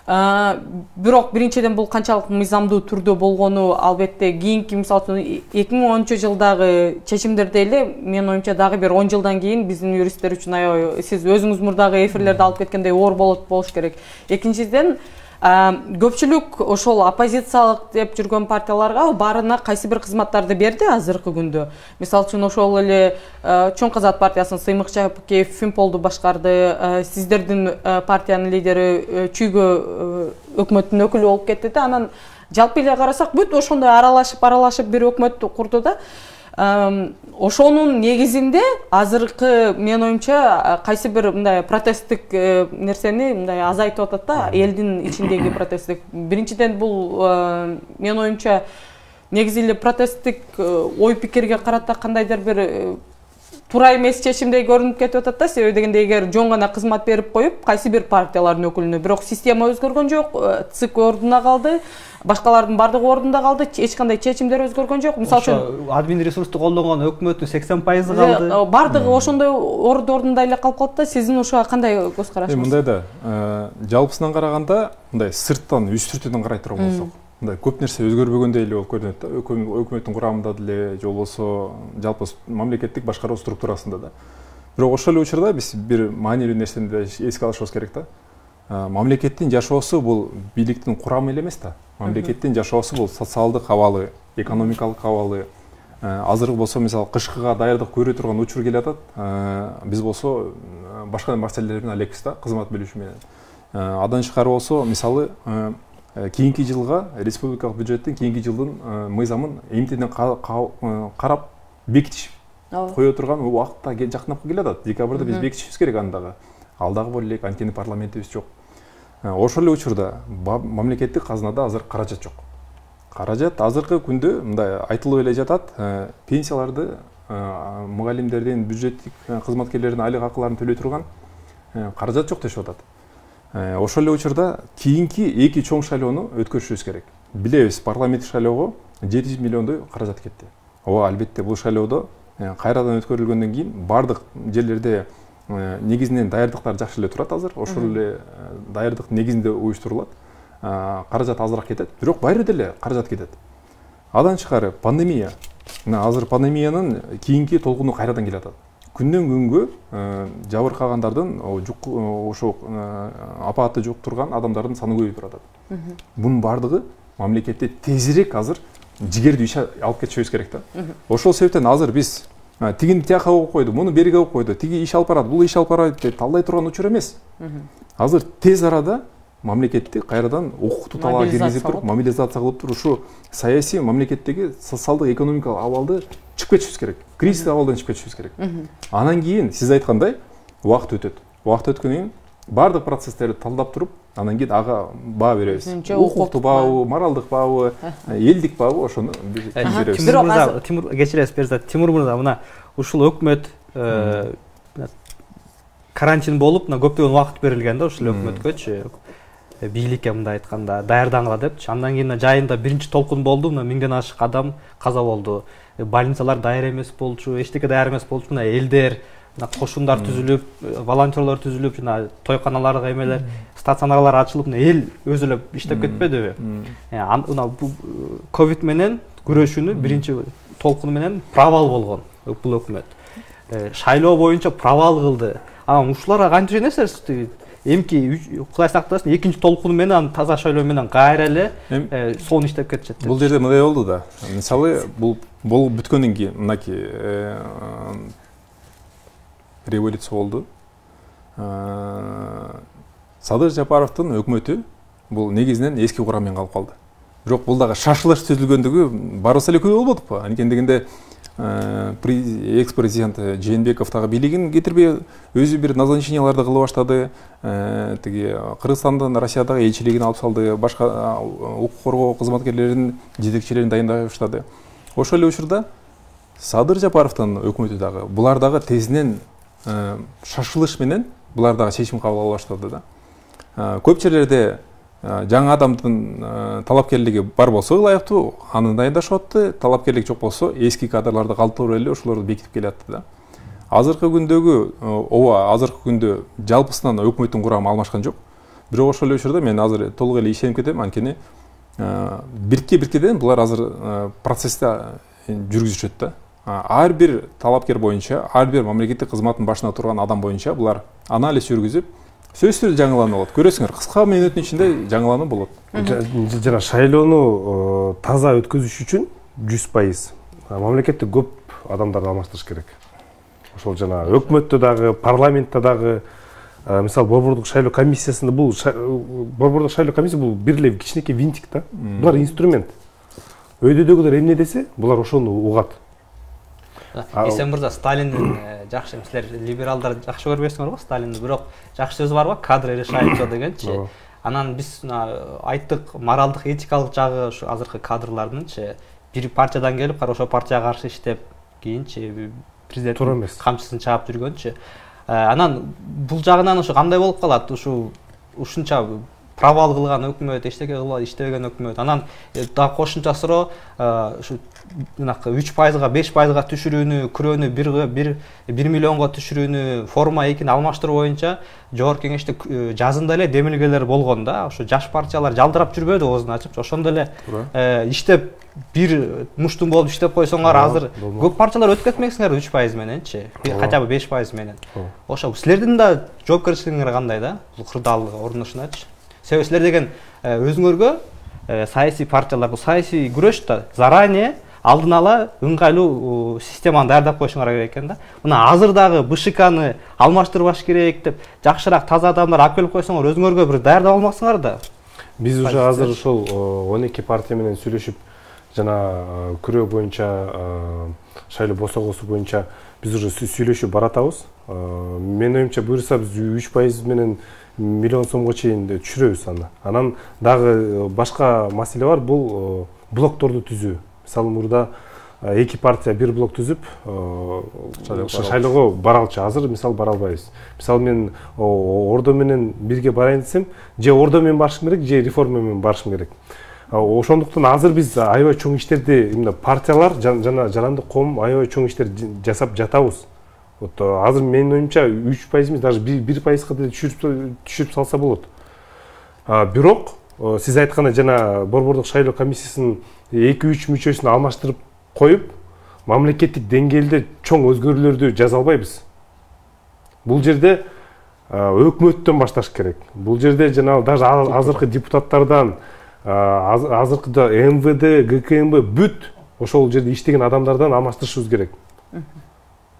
Бирок биринчиден бул канчалык мыйзамдуу түрдө болгону албетте кийинки мисалы үчүн 2013-жылдагы чечимдерде эле менин оюмча дагы бир 10 жылдан кийин биздин юристтер үчүн аябай сиз өзүңүз мурдагы эфирлерде алып кеткендей оор болуш керек. Экинчиден көпчүлүк ошол оппозициялык деп жүргөн партияларга баарына кайсы бир кызматтарды берди азыркы күндө. Мисалы үчүн ошол эле Чоң Казак партиясын Сыймык Жапыкеев Фимполду башкарды, сиздердин партиянын лидери Чүйгө өкмөттүн өкүлү болуп кетти да. Анан жалпы эле карасак бүт ошондой аралашып бир өкмөттү курду да. Ошонун негизинде азыркы менин оюмча кайсы бир мындай протесттик нерсени мындай азайтып атат да, элдин ичиндеги протесттик. Биринчиден бул менин оюмча негизи эле протесттик ой пикирге карата кандайдыр бир туура эмес чечимдей көрүнүп кетип атат да. Себеби дегенде эгер жөн гана кызмат берип коюп кайсы бир партиялардын өкүлүнө, бирок система өзгөргөн жок, ЦИК ордуна калды, башкалардын бардыгы ордунда калды, эч кандай чечимдер өзгөргөн жок. Мисалы үчүн админ ресурсту колдонгон өкмөттүн 80% калды. Бардыгы ошондой ордунда эле калып калды да. Сиздин ошого кандай көз карашыңыз? Мындай да, жалпысынан караганда, мындай сырттан, үстүртөдөн карай турган болсок, мындай көп нерсе өзгөрбөгөндөй эле болуп көрүнөт да, өкмөттүн курамында деле же болбосо жалпы мамлекеттик башкаруу структурасында да. Бирок ошол эле учурда биз бир маанилүү нерсени да эске алышыбыз керек да. Мамлекеттин жашоосу бул бийликтин курамы эле эмес да. Мамлекеттин жашоосу бул социалдык абалы, экономикалык абалы. Азыр болсо мисалы кышкыга даярдык көрө турган учур келатат. Биз болсо башка маселелер менен алекпиз да, кызмат бөлүшү менен. Адан тышкары болсо мисалы кийинки жылга республикалык бюджеттин кийинки жылдын мыйзамын эмтиден карап бекитиш кое турган убакытта жакындап келатат. Декабрда биз бекитишибиз керек аны дагы. Ал дагы боло элек, анткени парламентибиз жок. Ошол эле учурда мамлекеттик казынада азыр каражат жок. Каражат азыркы күндө мындай айтылып эле жатат, пенсияларды мугалимдердин, бюджеттик кызматкерлердин айлык акыларын төлөй турган каражат жок дешип атат. Ошол эле учурда кийинки эки чоң шайлоону өткөрүшүбүз керек. Билебиз, парламенттик шайлоого 700 миллиондой каражат кетти. Ооба, албетте бул шайлоодо кайрадан өткөрүлгөндөн кийин бардык жерлерде негизинен даярдыктар жакшы эле турат азыр. Ошол эле даярдык негизинде уюштурулат. Каражат азыраак кетет, бирок баары деле каражат кетет. Адан тышкары пандемия. Азыр пандемиянын кийинки толкуну кайрадан келатат. Күндөн күнгө жабыркагандардын, ошо апатты жуктурган адамдардын саны көбөйүп турат. Бунун бардыгы мамлекетте тезирээк азыр жигердүү иш алып кетишибиз керек да. Ошол себептен азыр биз тигини тияка коюп койду, муну бериге коюп койду, тиги иш алып барат, бул иш алып барат деп талдай турган учур эмес. Азыр тез арада мамлекетти кайрадан укуктуу талаага киргизип туруп, мобилизация кылып туруп, ушу саясий мамлекеттеги социалдык экономикалык абалды чыгып кетишибиз керек. Кризис абалдан чыгып кетишибиз керек. Анан кийин сиз айткандай убакыт өтөт. Убакыт өткөндөн кийин бардык процесстерди талдап туруп, анан кийин ага баа беребиз. Укуктуу баабы, моралдык баабы, элдик баабы, ошону биз беребиз. Тимур кечиресиз, Перизат. Тимур мырза, мына ушул өкмөт карантин болуп, мына көптөгөн убакыт берилген да ушул өкмөткөчү. Бийликке мындай айтканда даярдангыла депчи. Андан кийин жайында биринчи толкун болду, мына 1000ден ашык адам каза болду. Больницалар даяр эмес болчу, эчтеке даяр эмес болчу. Мына элдер, кошундар түзүлүп, волонтерлор түзүлүп, жана тойканаларга эмелер, стационарлар ачылып, эл өзү эле иштеп кетпедиби? Мына ковид менен күрөшүүнү биринчи толкуну менен провал болгон бул өкмөт. Шайлоо боюнча провал кылды. Анан ушуларга кантип ишенесиз? Эмки Кудай сактасын, экинчи толкуну менен таза шайлоо менен кайра эле сонун иштеп кетишет. Бул жерде мындай болду да. Мисалы, бул бүткөндөн кийин мынакей революция болду. Садыр Жапаровдун өкмөтү бул негизинен эски кураммен калып калды. Бирок бул дагы шашылыш түзүлгөндүгү барыбыз эле күбө болбодукпу? Анткени дегенде экс-президент Жээнбеков дагы бийлигин кетирбей өзү бир назначенияларды кыла баштады. Тиги Кыргызстандан Россиядагы элчилигин алып салды, башка укук коргоо кызматкерлеринин жетекчилерин дайындай баштады. Ошол эле учурда Садыр Жапаровдун өкмөтү дагы булар дагы тезинен шашылыш менен булар дагы чечим кабыл ала баштады да. Көп жерлерде жаңы адамдын талапкерлиги бар болсо ылайыктуу, аны дайындашып атты. Талапкерлик жок болсо эски кадрларды калтырып эле ошолорду бекитип келатты да. Азыркы күндө жалпысынан өкмөттүн курамы алмашкан жок. Бирок ошол эле учурда мен азыр толук эле ишенип кетем, анткени бирке-биркеден булар азыр процессте жүргүзүшөт да. Ар бир талапкер боюнча, ар бир мамлекеттик кызматтын башына турган адам боюнча булар анализ жүргүзүп, сөзсүз түрдө жаңылануу болот. Көрөсүңөр, кыска мүнөттүн ичинде жаңылануу болот. Жана шайлоону таза өткөзүш үчүн 100% мамлекетте көп адамдарды алмаштырыш керек. Ошол жана өкмөттө дагы, парламентте дагы, мисалы Борбордук шайлоо комиссиясында Борбордук шайлоо комиссия бул бир эле кичинекей винтик да. Булар инструмент. Өйдөдөгүлөр эмне десе, булар ошону угат. Эсен мырза, Сталиндин жакшы, силер либералдар жакшы көрбөйсүңөр го Сталинди, бирок жакшы сөзү бар го, кадры решают всё дегенчи. Анан биз айттык, моралдык, этикалык жагы ушу азыркы кадрлардынчы бир партиядан келип, ошол партияга каршы иштеп, кийинчи президент камчысын чаап жүргөнчү. Анан бул жагынан ушу кандай болуп калат? Ушунча провал кылган өкмөт, эчтеке кылбай иштебеген өкмөт. Анан дагы кошумча суроо ушу 3%га 5%га түшүрүүнү, күрөөнү 1 миллионго түшүрүүнү, форма 2-ни алмаштыруу боюнча Жогорку Кеңеште жазында эле демилгелер болгон да. Ошо жаш партиялар жалдырап жүрбөдү оозун ачып. Ошондо эле иштеп бир муштум болуп иштеп койсоңор азыр көп партиялар өтүп кетмексиңер 3% мененчи, хотя бы 5% менен. Ошо силердин да жоопкерчилигиңер кандай да? Бул кырдаалга орношуначы. Себеби силер деген өзүңөргө саясий партиялар, бул саясий күрөш да заранее алдын ала ыңгайлуу системаны даярдап коюшуңар керек экен да. Мына азыр дагы БШКны алмаштырбаш керек деп, жакшыраак таза адамдар алып келип койсоңор өзүңөргө бир даярдап алмаксыңар да. Биз уже азыр ошол 12 партия менен сүйлөшүп, жана күрөө боюнча, шайлоо босогосу боюнча биз уже сүйлөшүп баратабыз. Менин оюмча буюрса биз 3% менен миллион сомго чейин түшүрөбүз аны. Анан дагы башка маселе бар, бул блокторду түзүү. Мисалы мурда 2 партия бир блок түзүп шайлоого баралчы. Азыр мисалы бара албайбыз. Мисалы мен Ордо менен бирге барайын десем, же Ордо менен барышым керек, же реформа менен барышым керек. Ошондуктан азыр биз аябай чоң иштерди, именно партиялар жана жарандык коом аябай чоң иштер жасап жатабыз. Вот азыр менин оюмча 3% эмес, даже 1%га да түшүрүп салса болот. Бирок сиз айткандай жана Борбордук шайлоо комиссиясынын 2-3 мүчөсүн алмаштырып коюп, мамлекеттик деңгээлде чоң өзгөрүүлөрдү жаза албайбыз. Бул жерде өкмөттөн башташ керек. Бул жерде жана даже азыркы депутаттардан, азыркы МВД, ГКМБ бүт ошол жерде иштеген адамдардан алмаштырышыбыз керек.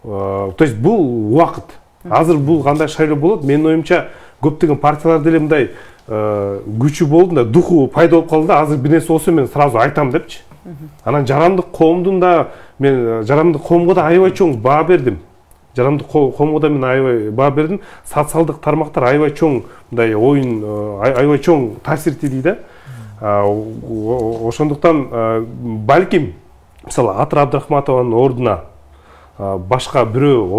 То есть бул убакыт. Азыр бул кандай шайлоо болот? Менин оюмча көптөгөн партиялар деле мындай күчү болду да, духу пайда болуп калды да, азыр бир нерсе болсо мен сразу айтам депчи. Анан жарандык коомдун да, мен жарандык коомго да аябай чоң баа бердим. Жарандык коомго да мен аябай баа бердим. Социалдык тармактар аябай чоң мындай оюн, аябай чоң таасир этти да. Ошондуктан балким мисалы Атыр Абдрахматованын ордуна башка бирөө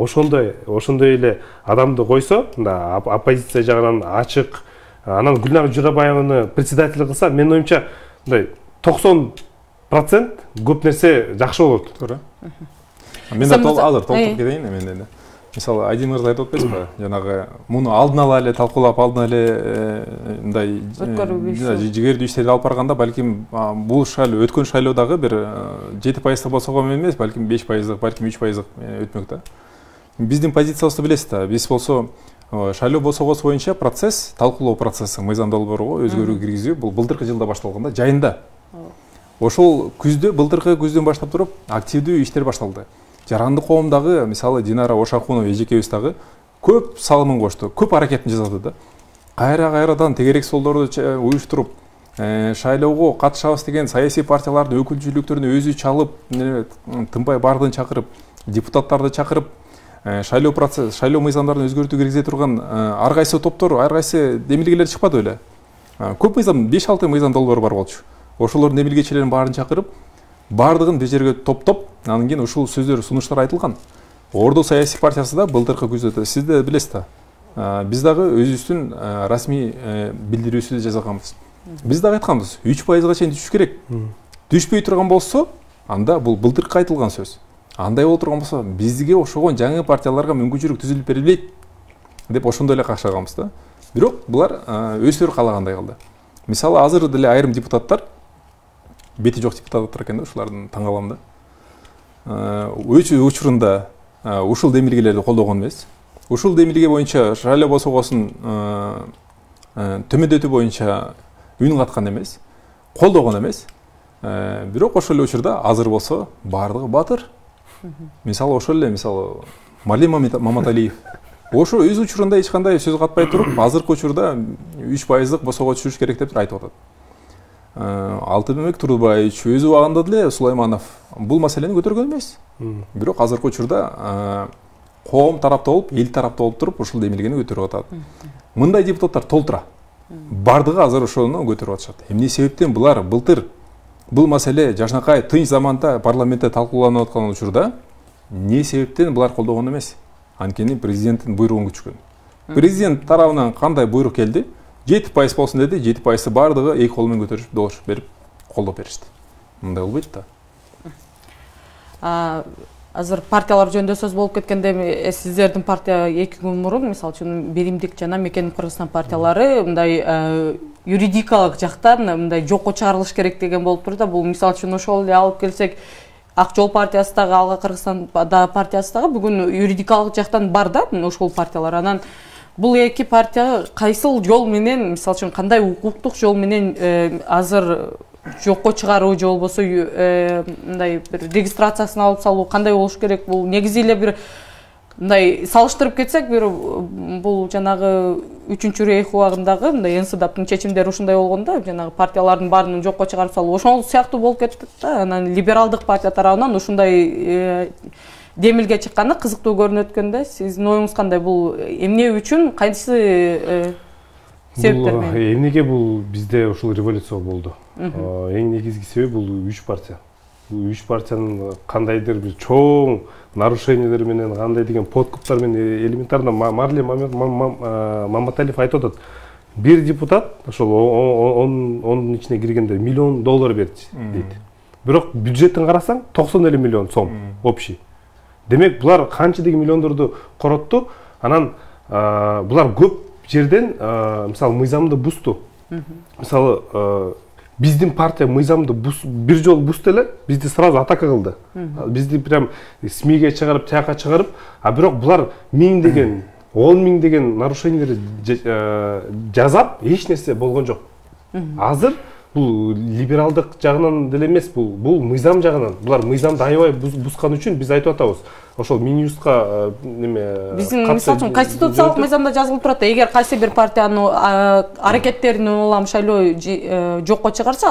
ошондой эле адамды койсо, мында оппозиция жагынан ачык, анан Гүлнар Журабаеваны председатель кылса, менин оюмча мындай 90% көп нерсе жакшы болот. Туура. Мен да толтуруп кетейин мен. Мисалы Айдин мырза айтып атпайсызбы? Жанагы муну алдын ала эле талкуулап, алдын эле мындай жигердүү иштерди алып барганда, балким бул шайлоо өткөн шайлоодагы бир 7% болсого эмес, балким 5%, балким 3% өтмөк да. Биздин позициябызды билесиз да. Биз болсо шайлоо босогосу боюнча процесс, талкуулоо процесси мыйзам долбоорго өзгөрүү киргизүү бул былтыркы жылда башталган да, жайында. Ошол күздө, былтыркы күздөн баштап туруп активдүү иштер башталды. Жарандык коомдагы мисалы Динара Ошакунова эжекебиз дагы көп салымын кошту, көп аракетин жасады да. Кайрадан тегерек солдорду уюштуруп, шайлоого катышабыз деген саясий партиялардын өкүлчүлүктөрүнө өзү чалып, тынбай бардын чакырып, депутаттарды чакырып, шайлоо процесс, шайлоо мыйзамдарын өзгөртүү киргизе турган ар кайсы топтор, ар кайсы демилгелер чыкпады беле. Көп мыйзам, 5-6 мыйзам долбоор бар болчу. Ошолордун демилгечилерин баарын чакырып, бардыгын бир жерге топтоп, анан кийин ушул сөздөр, сунуштар айтылган. Ордо саясий партиясы да былтыркы күздө, сиз да билесиз да. Биз дагы өзүбүздүн расмий билдирүүсү жасаганбыз. Биз дагы айтканбыз, 3%га чейин түшүш керек. Түшпөй турган болсо, анда бул былтыркы айтылган сөз. Андай болуп турган болсо, бизге ошогон жаңы партияларга мүмкүнчүлүк түзүлүп берилбейт деп ошондой эле какшаганбыз да. Бирок булар өздөрү каалагандай калды. Мисалы азыр деле айрым депутаттар, бети жок депутаттар экен да, ушулардын таң калам да. Өз учурунда ушул демилгелерди колдогон эмес. Ушул демилге боюнча шайлоо босогосун төмөндөтүү боюнча үн каткан эмес, колдогон эмес. Бирок ошол эле учурда азыр болсо бардыгы батыр. Мисалы ошол эле, мисалы Малим Маматалиев. Ошо өз учурунда эч кандай сөз катпай туруп, азыркы учурда 3%дык босого түшүш керек деп айтып атат. Алтынбек Турдубаевич өзү убагында деле Сулайманов бул маселени көтөргөн эмес. Бирок азыркы учурда коом тарапта болуп, эл тарапта болуп туруп, ушул демилгени көтөрүп атат. Мындай депутаттар толтура. Бардыгы азыр ошону көтөрүп атышат. Эмне себептен булар былтыр бул маселе жашнакай тынч заманда парламентте талкууланып аткан учурда эмне себептен булар колдогон эмес? Анткени президенттин буйругун күчкөн. Президент тарабынан кандай буйрук келди? 7% болсун деди, 7% баардыгы эки кол менен көтөрүп добуш берип колдоп беришти. Мындай болбойт да. Азыр партиялар жөнүндө сөз болуп кеткенде, сиздердин партия 2 күн мурун, мисалы үчүн Биримдик жана Мекеним Кыргызстан партиялары мындай юридикалык жактан мындай жокко чыгарылыш керек деген болуп тур да. Бул мисалы үчүн ошол эле алып келсек, Ак жол партиясы дагы, Алга Кыргызстан партиясы дагы бүгүн юридикалык жактан бар да, ошол партиялар. Анан бул эки партия кайсыл жол менен, мисалы үчүн кандай укуктук жол менен азыр жокко чыгаруу же болбосо мындай бир регистрациясын алып салуу кандай болуш керек? Бул негизи эле бир мындай салыштырып кетсек, бир бул жанагы 3-рейх убагындагы мындай НСДАПтын чечимдери ушундай болгондо, жанагы партиялардын баарын жокко чыгарып салуу ошол сыяктуу болуп кетти да. Анан либералдык партия тарабынан ушундай демилге чыкканы кызыктуу көрүнөт экен да. Сиздин оюңуз кандай? Бул эмне үчүн, кайсы себептер менен? Эмнеге бул бизде ушул революция болду? Эң негизги себеби бул 3 партия. Бул 3 партиянын кандайдыр бир чоң нарушениялер менен, кандай деген подкуптар менен элементарно Марле Маматалиев айтып атат. Бир депутат ошол онун ичине киргенде $1 миллион берди дейт. Бирок бюджеттин карасаң 90 миллион сом общий. Демек булар канча деген миллиондорду коротту. Анан булар көп жерден мисалы мыйзамды бузду. Мисалы биздин партия мыйзамды бир жолу бузду эле, бизди сразу атака кылды. Бизди прям СМИге чыгарып, тияка чыгарып, бирок булар 1000 деген, 10 000 деген нарушениялер жазап, эч нерсе болгон жок. Азыр бул либералдык жагынан деле эмес, бул мыйзам жагынан. Булар мыйзамды аябай бузган үчүн биз айтып атабыз. Ошол Минюстка неме биздин мисалы үчүн конституциялык мыйзамда жазылып турат. Эгер кайсы бир партиянын аракеттерин улам шайлоо жокко чыгарса,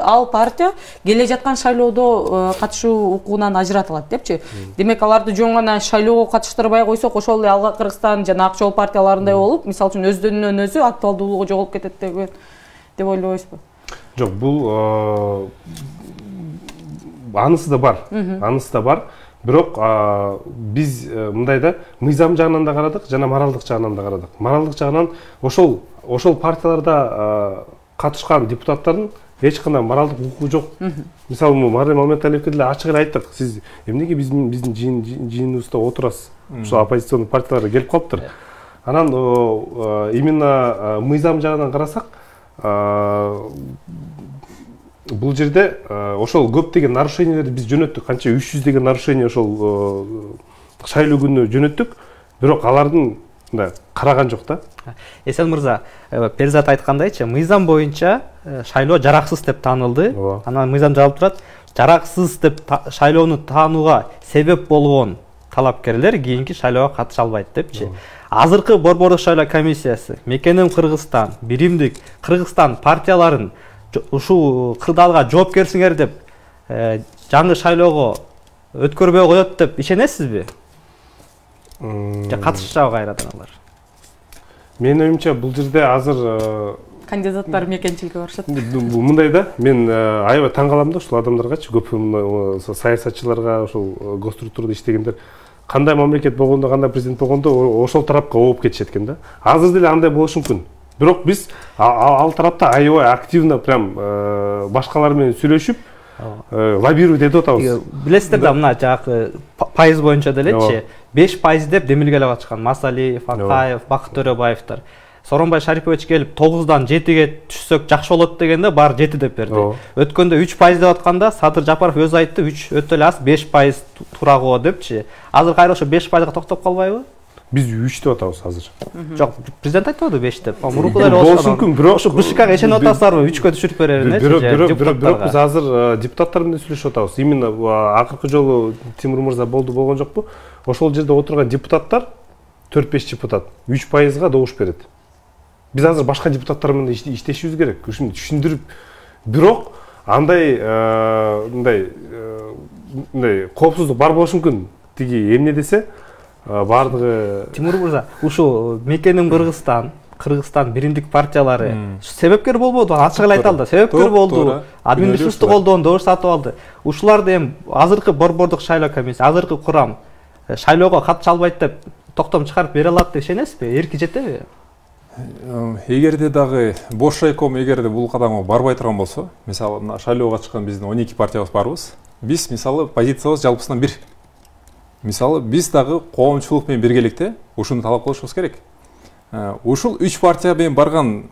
ал партия келе жаткан шайлоодо катышуу укугунан ажыратылат депчи. Демек аларды жөн гана шайлоого катыштырбай койсок, ошол эле Алга Кыргызстан жана Ак жол партияларындай болуп, мисалы үчүн өздөрүнөн өзү актуалдуулугу жоголуп кетет деп ойлойсузбу? Жок, бул анысы да бар. Бирок биз мындай да мыйзам жагынан да карадык, жана моралдык жагынан да карадык. Моралдык жагынан ошол партияларда катышкан депутаттардын эч кандай моралдык укугу жок. Мисалы, Марле Маматалиевке деле ачык эле айттык. Сиз эмнеге биздин жыйыныбызда отурасыз? Ошол оппозиционный партиялар келип калыптыр. Анан именно мыйзам жагынан карасак, бул жерде ошол көп деген нарушениялерди биз жөнөттүк. Канча 300 деген нарушение ошол шайлоо күнү жөнөттүк. Бирок алардын караган жок да. Эсен мырза, Перзат айткандайчы, мыйзам боюнча шайлоо жараксыз деп таанылды. Анан мыйзам жабылып турат, жараксыз деп шайлоону таанууга себеп болгон талапкерлер кийинки шайлоого катыша албайт депчи. Азыркы Борбордук шайлоо комиссиясы, Мекеним Кыргызстан, Биримдик Кыргызстан партияларын ушул кырдаалга жоопкерсиңер деп жаңы шайлоого өткөрбөй коет деп ишенесизби? Же катышачабы кайрадан алар? Менин оюмча бул жерде азыр кандидаттар мекенчиликке барышат. Мындай да, мен аябай таң калам да ушул адамдаргачы, көп саясатчыларга, ошол госструктурада иштегендер кандай мамлекет болгондо, кандай президент болгондо ошол тарапка ооп кетишет экен да. Азыр деле андай болушу мүмкүн. Бирок биз ал тарапта аябай активно прям башкалар менен сүйлөшүп, лоббировать этип атабыз. Билесиздер да, мына жагы пайыз боюнча делечи, 5% деп демилгелеп атышкан Масалиев, Акаев, Бакыт Төрөбаевдер. Сооронбай Шарипович келип 9-дан 7-ге түшсөк жакшы болот дегенде бар 7 деп берди. Өткөндө 3% деп атканда Садыр Жапаров өзү айтты, 3 өтө эле аз, 5% туура го депчи. Азыр кайра ошо 5%га токтоп калбайбы? Биз 3 деп атабыз азыр. Жок, президент айтты 5 деп. Мурукулар болушу мүмкүн, бирок ошо БШКга ишенип атасызарбы? 3-кө түшүрүп берерин. Бирок биз азыр депутаттар менен сүйлөшүп атабыз. Именно акыркы жолу Тимур мырза болгон жокпу? Ошол жерде отурган депутаттар 4-5 депутат 3%га добуш берет. Биз азыр башка депутаттар менен иштешибиз керек. Ушуну түшүндүрүп, бирок андай коопсуздук бар болушу мүмкүн. Тиги эмне десе, бардыгы Тимур мырза, ушул Мекеним Кыргызстан, Биримдик партиялары себепкер болбоду, ачык эле айта алды. Себепкер болду, админресурсту колдонду, добуш сатып алды. Ушуларды эми азыркы Борбордук шайлоо комиссиясы, азыркы курам шайлоого катыша албайт деп токтом чыгарып бере алат деп ишенесизби? Эрки жетеби? Эгерде дагы бош райком эгерде бул кадамга барбай турган болсо, мисалы мына шайлоого чыккан биздин 12 партиябыз барбыз. Биз мисалы позициябыз жалпысынан бир. Мисалы биз дагы коомчулук менен биргеликте ушуну талап кылышыбыз керек. Ушул 3 партия менен барган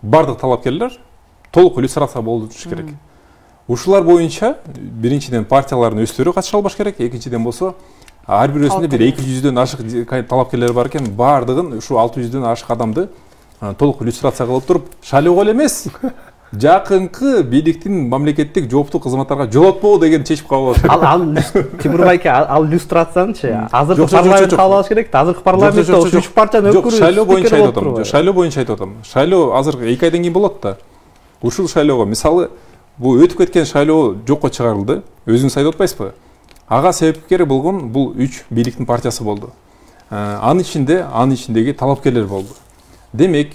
бардык талапкерлер толук иллюстрация болуш керек. Ушулар боюнча биринчиден партиялардын өздөрү катыша албаш керек, экинчиден болсо ар бир өзүндө бир 200дөн ашык талапкерлер бар экен, бардыгын ушу 600дөн ашык адамды толук иллюстрация кылып туруп, шайлоого эле эмес, жакынкы бийликтин мамлекеттик жооптуу кызматтарга жолотпоо деген чечип кабыл алат. Ал Тимур байке, ал иллюстрациянычы азыркы парламент кабыл керек да, азыркы парламентте ушу 3 партиянын өкүлү шайлоо боюнча айтып атам. Шайлоо боюнча айтып атам. Шайлоо азыр 2 айдан кийин болот да. Ушул шайлоого мисалы бул өтүп кеткен шайлоо жокко чыгарылды. Өзүңүз айтып атпайсызбы? Ага себепкери болгон бул 3 бийликтин партиясы болду. Анын ичиндеги талапкерлер болду. Демек,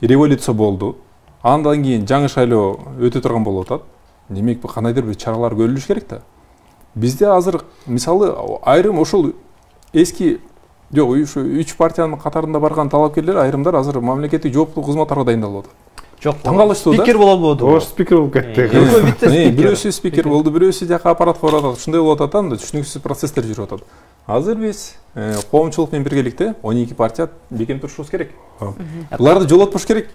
революция болду. Андан кийин жаңы шайлоо өтө турган болуп атат. Демек, кандайдыр бир чаралар көрүлүш керек да. Бизде азыр мисалы айрым ошол эски жок, ушу 3 партиянын катарында барган талапкерлер айрымдар азыр мамлекеттик жооптуу кызматтарга дайындалып атат. Жок, таң калыштуу да. Спикер болобуду? Ош спикер болуп кетти. Бирөөсү спикер болду, бирөөсү жака аппаратка барып атат. Ушундай болуп атат да, түшүнүксүз процесстер жүрүп атат. Азыр биз коомчулук менен биргеликте 12 партия бекем турушубуз керек. Буларды жолотпош керек.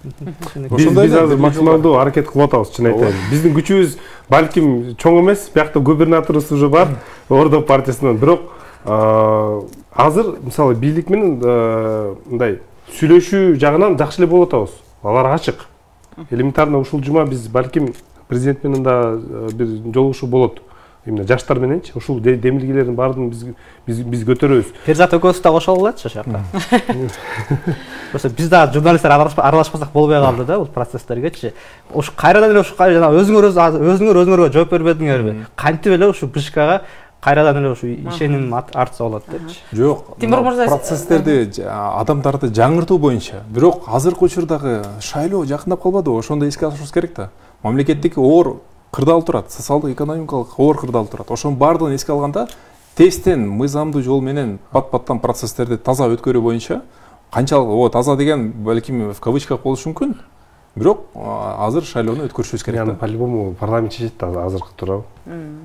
Биз азыр максималдуу аракет кылып атабыз, чын айтайын. Биздин күчүбүз балким чоң эмес, биякта губернаторубуз уже бар, Ордо партиясынан. Бирок азыр мисалы бийлик менен мындай сүйлөшүү жагынан жакшы эле болуп атабыз. Алар ачык. Элементарно ушул жума биз балким президент менен да бир жолугушуу болот. Именно жаштар мененчи ушул демилгелердин баардыгын биз көтөрөбүз. Перзат экөөбүз да кошо алатчы ошоко. Просто биз да журналисттер аралашпасак болбой калды да бул процесстергечи. Ушу кайрадан эле ушу жана өзүңөр жооп бербедиңерби? Кантип эле ушу БШКга кайрадан эле ушу ишеним артса болот депчи. Жок, процесстерди адамдарды жаңыртуу боюнча, бирок азыркы учурдагы шайлоо жакындап калбадыбы? Ошондо эске алышыбыз керек да. Мамлекеттик оор кырдаал турат, социалдык экономикалык оор кырдаал турат. Ошонун баардыгын эске алганда тесттен мыйзамдуу жол менен пат-паттан процесстерди таза өткөрүү боюнча канчалык таза деген балким в кавычках болушу мүмкүн. Бирок азыр шайлоону өткөрүшүбүз керек да. По-любому парламент чечет да азыркы туурабы?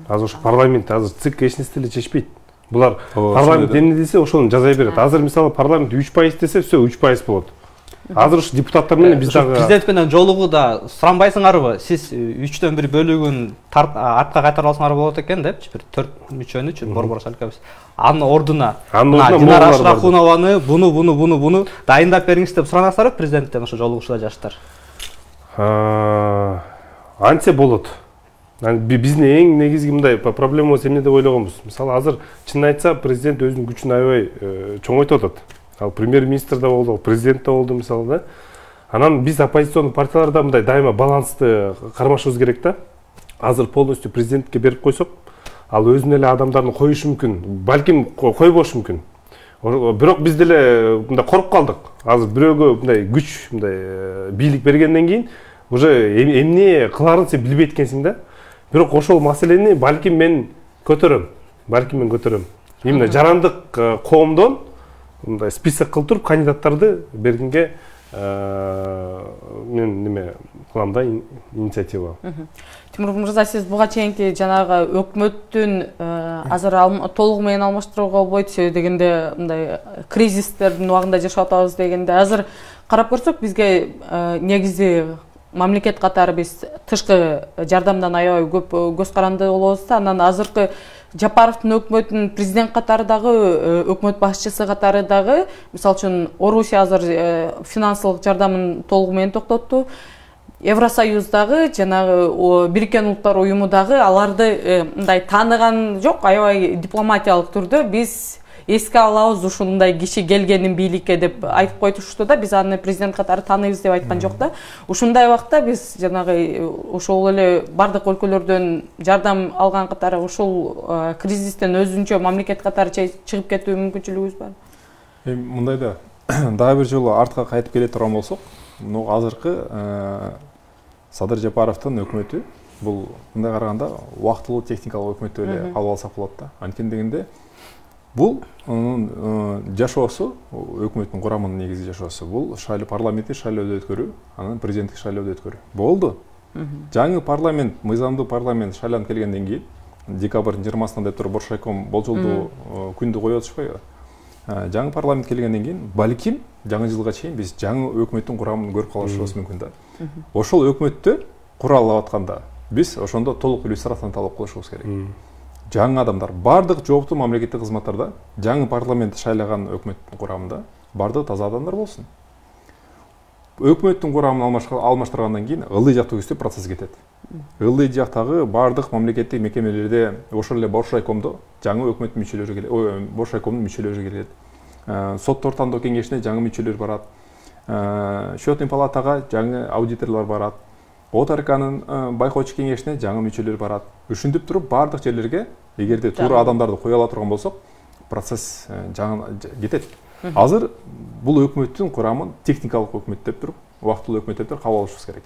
Азыр ошо парламент азыр ЦИК эч нерсе деле чечпейт. Булар парламент эмне десе ошону жаза берет. Азыр мисалы парламент 3% десе все 3% болот. Азыр ушу депутаттар менен биз дагы президент менен жолугуда суранбайсыңарбы? Сиз 3төн 1 бөлүгүн артка кайтарып алсаңар болот экен депчи, бир 4 мүчөнүчү борбор шайлообуз. Анын ордуна Динара Ашрахунованы буну дайындап бериңиз деп суранасызарбы президенттен ошо жолугушуда жаштар? Антсе болот. Биздин эң негизги мындай проблемабыз эмне деп ойлогонбуз? Мисалы азыр чын айтса президент өзүнүн күчүн аябай чоңойтуп атат. Ал премьер-министр да болду, президент да болду мисалы да. Анан биз оппозициондук партияларда мындай дайыма балансты кармашыбыз керек да. Азыр полностью президентке берип койсок, ал өзүнүн эле адамдарын коюшу мүмкүн. Балким койбошу мүмкүн. Бирок биз деле мындай коруп калдык. Азыр бирөөгө мындай күч, мындай бийлик бергенден кийин уже эмне кыларын сен билбейт экенсиң да. Бирок ошол маселени балким мен көтөрөм. Именно жарандык коомдон мындай список кылып туруп кандидаттарды бергенге мен неме кылам да, инициатива. Тимур мырза, сиз буга чейинки жанагы өкмөттүн азыр толугу менен алмаштырууга болбойт дегенде, мындай кризистердин убагында жашап атабыз дегенде, азыр карап көрсөк бизге негизи мамлекет катары биз тышкы жардамдан аябай көп көз каранды болобуз да. Анан азыркы Жапаровдун өкмөтүнүн президент катары дагы, өкмөт башчысы катары дагы, мисалы үчүн Орусия азыр финансылык жардамын толугу менен токтотту. Евросоюз дагы, жанагы Бириккен Улуттар уюму дагы аларды мындай тааныган жок, аябай дипломатиялык түрдө биз эске алабыз ушундай киши келгенин бийликке деп айтып койтушту да. Биз аны президент катары тааныйбыз деп айткан жок да. Ушундай убакта биз жанагы ошол эле бардык өлкөлөрдөн жардам алган катары ушул кризистен өзүнчө мамлекет катары чыгып кетүү мүмкүнчүлүгүбүз бар. Мындай да дагы бир жолу артка кайтып келе турган болсок, азыркы Садыр Жапаровдун өкмөтү бул мындай караганда убактылуу техникалык өкмөт деп эле алып алсак болот да. Анткени дегенде Бул жашоосу, өкмөттүн курамынын негизги жашоосу бул парламенттик шайлоодо өткөрүү, анан президенттик шайлоодо өткөрүү. Болду. Жаңы парламент, мыйзамдуу парламент шайланып келгенден кийин декабрдын 20-сында деп туруп Боршайком болжолдуу күндү коюп атышпайбы? Жаңы парламент келгенден кийин балким жаңы жылга чейин биз жаңы өкмөттүн курамын көрүп калышыбыз мүмкүн да. Ошол өкмөттү куралап атканда биз ошондо толук иллюстрацияны талап кылышыбыз керек. Жаңы адамдар, бардык жооптуу мамлекеттик кызматтарда жаңы парламент шайлаган өкмөттүн курамында бардык таза адамдар болсун. Өкмөттүн курамын алмаштыргандан кийин ылдый жактуу көздөп процесс кетет. Ылдый жактагы бардык мамлекеттик мекемелерде ошол эле Боршайкомдо жаңы өкмөт мүчөлөрү келет, Боршайкомдун мүчөлөрү келет. Соттор тандоо кеңешине жаңы мүчөлөр барат. Счетный палатага жаңы аудиторлор барат. ОТРКнын байкоочу кеңешине жаңы мүчөлөр барат. Ушинтип туруп бардык жерлерге эгерде туура адамдарды кое ала турган болсок, процесс жаңы кетет. Азыр бул өкмөттүн курамын техникалык өкмөт деп туруп, убактылуу өкмөт деп туруп кабыл алышыбыз керек.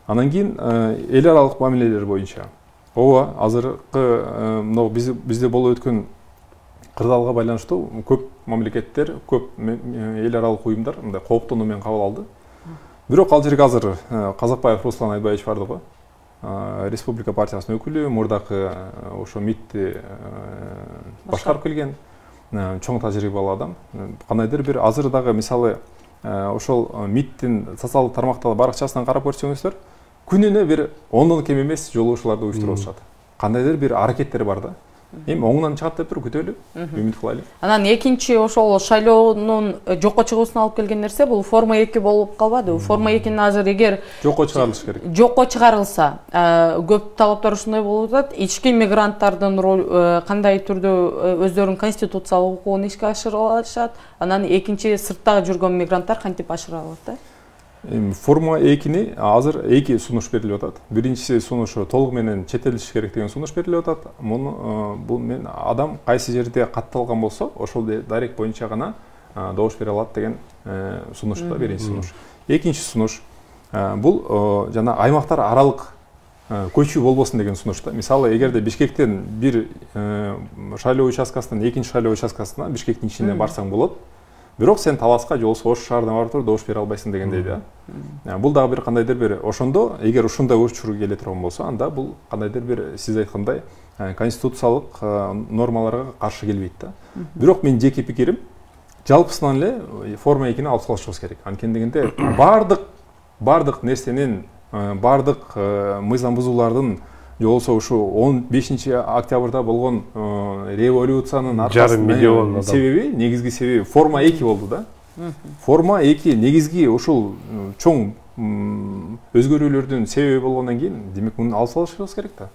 Анан кийин эл аралык мамилелер боюнча ооба азыркы мына бизде болуп өткөн кырдаалга байланыштуу көп мамлекеттер, көп эл аралык уюмдар мындай кооптонуу менен кабыл алды. Бирок ал жерге азыр Казакбаев Руслан Айбаевич барды го. Республика партиясынын өкүлү, мурдакы ошо МИДти башкарып келген чоң тажрыйбалуу адам. Кандайдыр бир азыр дагы мисалы ошол МИДтин социалдык тармактагы баракчасынан карап көрсөңүздөр, күнүнө бир 10дон кем эмес жолугушууларды уюштуруп атышат. Кандайдыр бир аракеттер бар да. Эми оңунан чыгат деп туруп күтөлү, үмүт кылайлы. Анан экинчи ошол шайлоонун жокко чыгуусуна алып келген нерсе бул форма 2 болуп калбады. Форма 2 азыр эгер жокко чыгарылыш керек. Жокко чыгарылса, көп талаптар ушундай болуп атат. Ички мигранттардын кандай түрдө өздөрүнүн конституциялык укугун ишке ашыра алышат, анан экинчи сыртта жүргөн мигранттар кантип ашыра алат да? Форма 2-ни азыр 2 сунуш берилип атат. Биринчиси сунушу толугу менен чет-элдиш керек деген сунуш берилип атат. Бул мен адам кайсы жерде катталган болсо, ошол дарек боюнча гана добуш бере алат деген сунуш да, биринчи сунуш. Экинчи сунуш бул жана аймактар аралык көчүү болбосун деген сунуш да. Мисалы, эгерде Бишкектен бир шайлоо участкасынан экинчи шайлоо участкасына Бишкектин ичинен барсаң болот. Бирок сен Таласка же болбосо Ош шаарына барып туруп добуш бере албайсың дегендей да. Бул дагы бир кандайдыр бир ошондо эгер ушундай учур келе турган болсо, анда бул кандайдыр бир сиз айткандай конституциялык нормаларга каршы келбейт да. Бирок менин жеке пикирим, жалпысынан эле форма 2-ни алып салышыбыз керек. Анткени дегенде бардык нерсенин, бардык мыйзам бузуулардын же болбосо ушу 15-октябрда болгон революциянын аркасында себеби, негизги себеби форма 2 болду да. Форма 2 негизги ушул чоң өзгөрүүлөрдүн себеби болгондон кийин, демек муну алып салышыбыз керек да.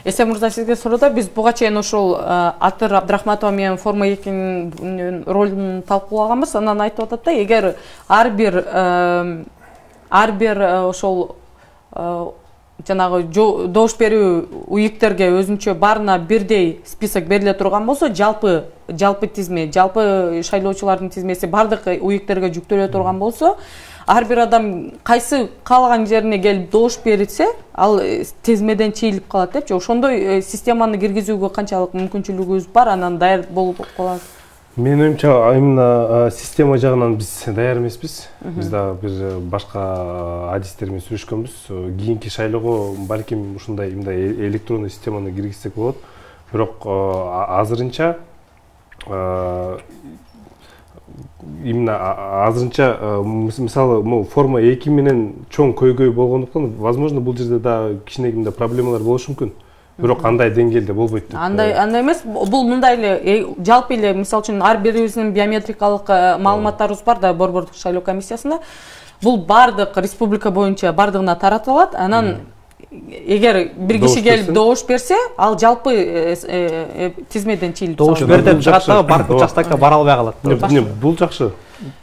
Эсен мырза, сизге суроо, биз буга чейин ушул Атыр Абдрахматова менен форма 2-нин ролун талкуулаганбыз. Анан айтып атат да, эгер ар бир ошол жанагы добуш берүү уюктерге өзүнчө баарына бирдей список бериле турган болсо, жалпы тизме, жалпы шайлоочулардын тизмеси бардык уюктерге жүктөлө турган болсо, ар бир адам кайсы каалаган жерине келип добуш берсе, ал тизмеден чийилип калат депчи. Ошондой системаны киргизүүгө канчалык мүмкүнчүлүгүбүз бар, анан даяр болуп калат? Менин оюмча, именно система жагынан биз даяр эмеспиз. Биз дагы бир башка адистер менен сүйлөшкөнбүз. Кийинки шайлоого балким ушундай электрондуу системаны киргизсек болот. Бирок азырынча мисалы форма 2 менен чоң көйгөй болгондуктан, возможно, бул жерде дагы кичинекей проблемалар болушу мүмкүн. Бирок андай деңгээлде болбойт деп. Андай эмес, бул мындай эле жалпы эле, мисалы үчүн ар бирибиздин биометрикалык маалыматтарыбыз бар да Борбордук шайлоо комиссиясында. Бул бардык республика боюнча бардыгына таратылат. Анан эгер бир киши келип добуш берсе, ал жалпы тизмеден чийилип добуш бердеп чыгат дагы барып участокко бара албай калат. Бул жакшы.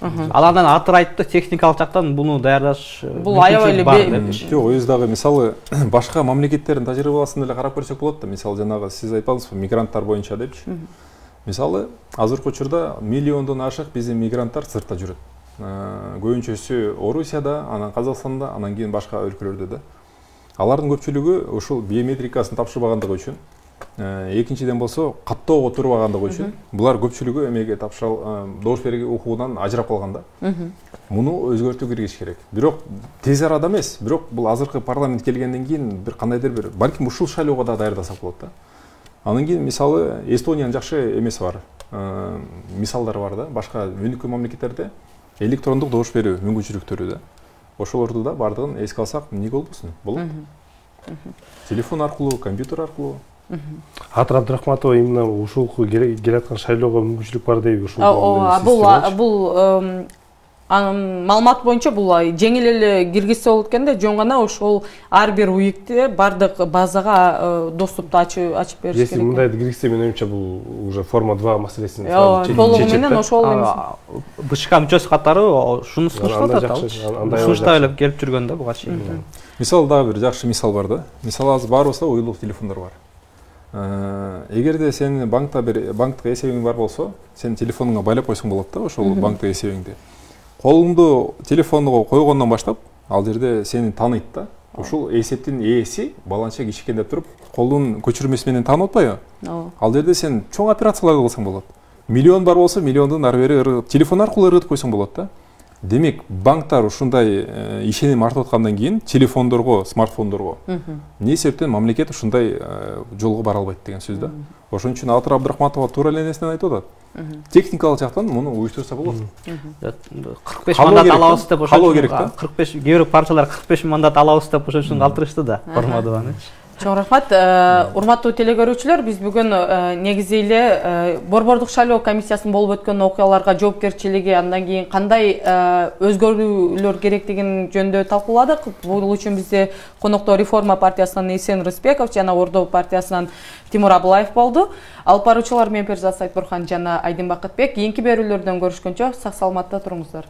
Ал андан Атыр айтты, техникалык жактан буну даярдаш бул аябай эле жок, өзү дагы мисалы башка мамлекеттердин тажрыйбаласын эле карап көрсөк болот да. Мисалы жанагы сиз айтпадыңызбы, мигранттар боюнча депчи. Мисалы азыркы учурда миллиондон ашык биздин мигранттар сыртта жүрөт. Көбүнчөсү Орусияда, анан Казакстанда, анан кийин башка өлкөлөрдө да. Алардын көпчүлүгү ушул биометрикасын тапшырбагандыгы үчүн Экинчиден болсо каттоого турбаганда койчу. Булар көпчүлүгү эмеге добуш берүү укугунан ажырап калган да. Муну өзгөртүү киргизиш керек. Бирок тез арада эмес, бирок бул азыркы парламент келгенден кийин бир кандайдыр бир балким ушул шайлоого да даярдасак болот да. Анан кийин мисалы Эстониянын жакшы эмеси бар. Мисалдары бар да. Башка өнүккөн мамлекеттерде электрондук добуш берүү мүмкүнчүлүктөрү да. Ошолорду да бардыгын эске алсак эмне болбосун? Болот. Телефон аркылуу, компьютер аркылуу. Атыр Абдрахматова именно ушул келаткан шайлоого мүмкүнчүлүк бар дейби ушул. Бул маалымат боюнча бул жеңил эле киргизсе болот экен да, жөн гана ошол ар бир уюкте бардык базага доступту ачып бериш керек. Если мындайды киргизсе, менин оюмча бул уже форма 2 маселесин толугу менен ошол эмес. БШК мүчөсү катары ушуну сунуштап атат. Сунуштап эле келип жүргөн да буга чейин. Мисалы дагы бир жакшы мисал бар да. Мисалы азыр баарыбызда уюлдук телефондор бар. Эгерде сенин банктык эсебиң бар болсо, сен телефонуңа байлап койсоң болот да ошол банктык эсебиңди. Колуңду телефонго койгондон баштап, ал жерде сени тааныйт да. Ушул эсептин ээси баланча кичикендеп туруп, колдун көчүрмөсү менен таанып атпайбы? Ал жерде сен чоң операцияларды кылсаң болот. Миллион бар болсо, миллиондун ары бери телефон аркылуу ыргытып койсоң болот да. Демек, банктар ушундай ишеним артып аткандан кийин телефондорго, смартфондорго эмне себептен мамлекет ушундай жолго бара албайт деген сөз да. Ошон үчүн Атыр Абдрахматова туура эле нерсени айтып атат. Техникалык жактан муну уюштурса болот. 45 мандат алабыз деп ошол керек да. 45 кээ бир партиялар 45 мандат алабыз деп ошон үчүн калтырышты да. Формадованы. Чоң рахмат. Урматтуу телекөрүүчүлөр, биз бүгүн негизи эле Борбордук шайлоо комиссиясынын болуп өткөн окуяларга жоопкерчилиги, андан кийин кандай өзгөрүүлөр керектигин жөнүндө талкууладык. Бул үчүн бизде конокто Реформа партиясынан Эсен Рыспеков жана Ордо партиясынан Тимур Абылаев болду. Алып баруучулар мен Перзат Сайтбурхан жана Айдын Бакытбек. Кийинки берүүлөрдөн көрүшкөнчө сак саламатта туруңуздар.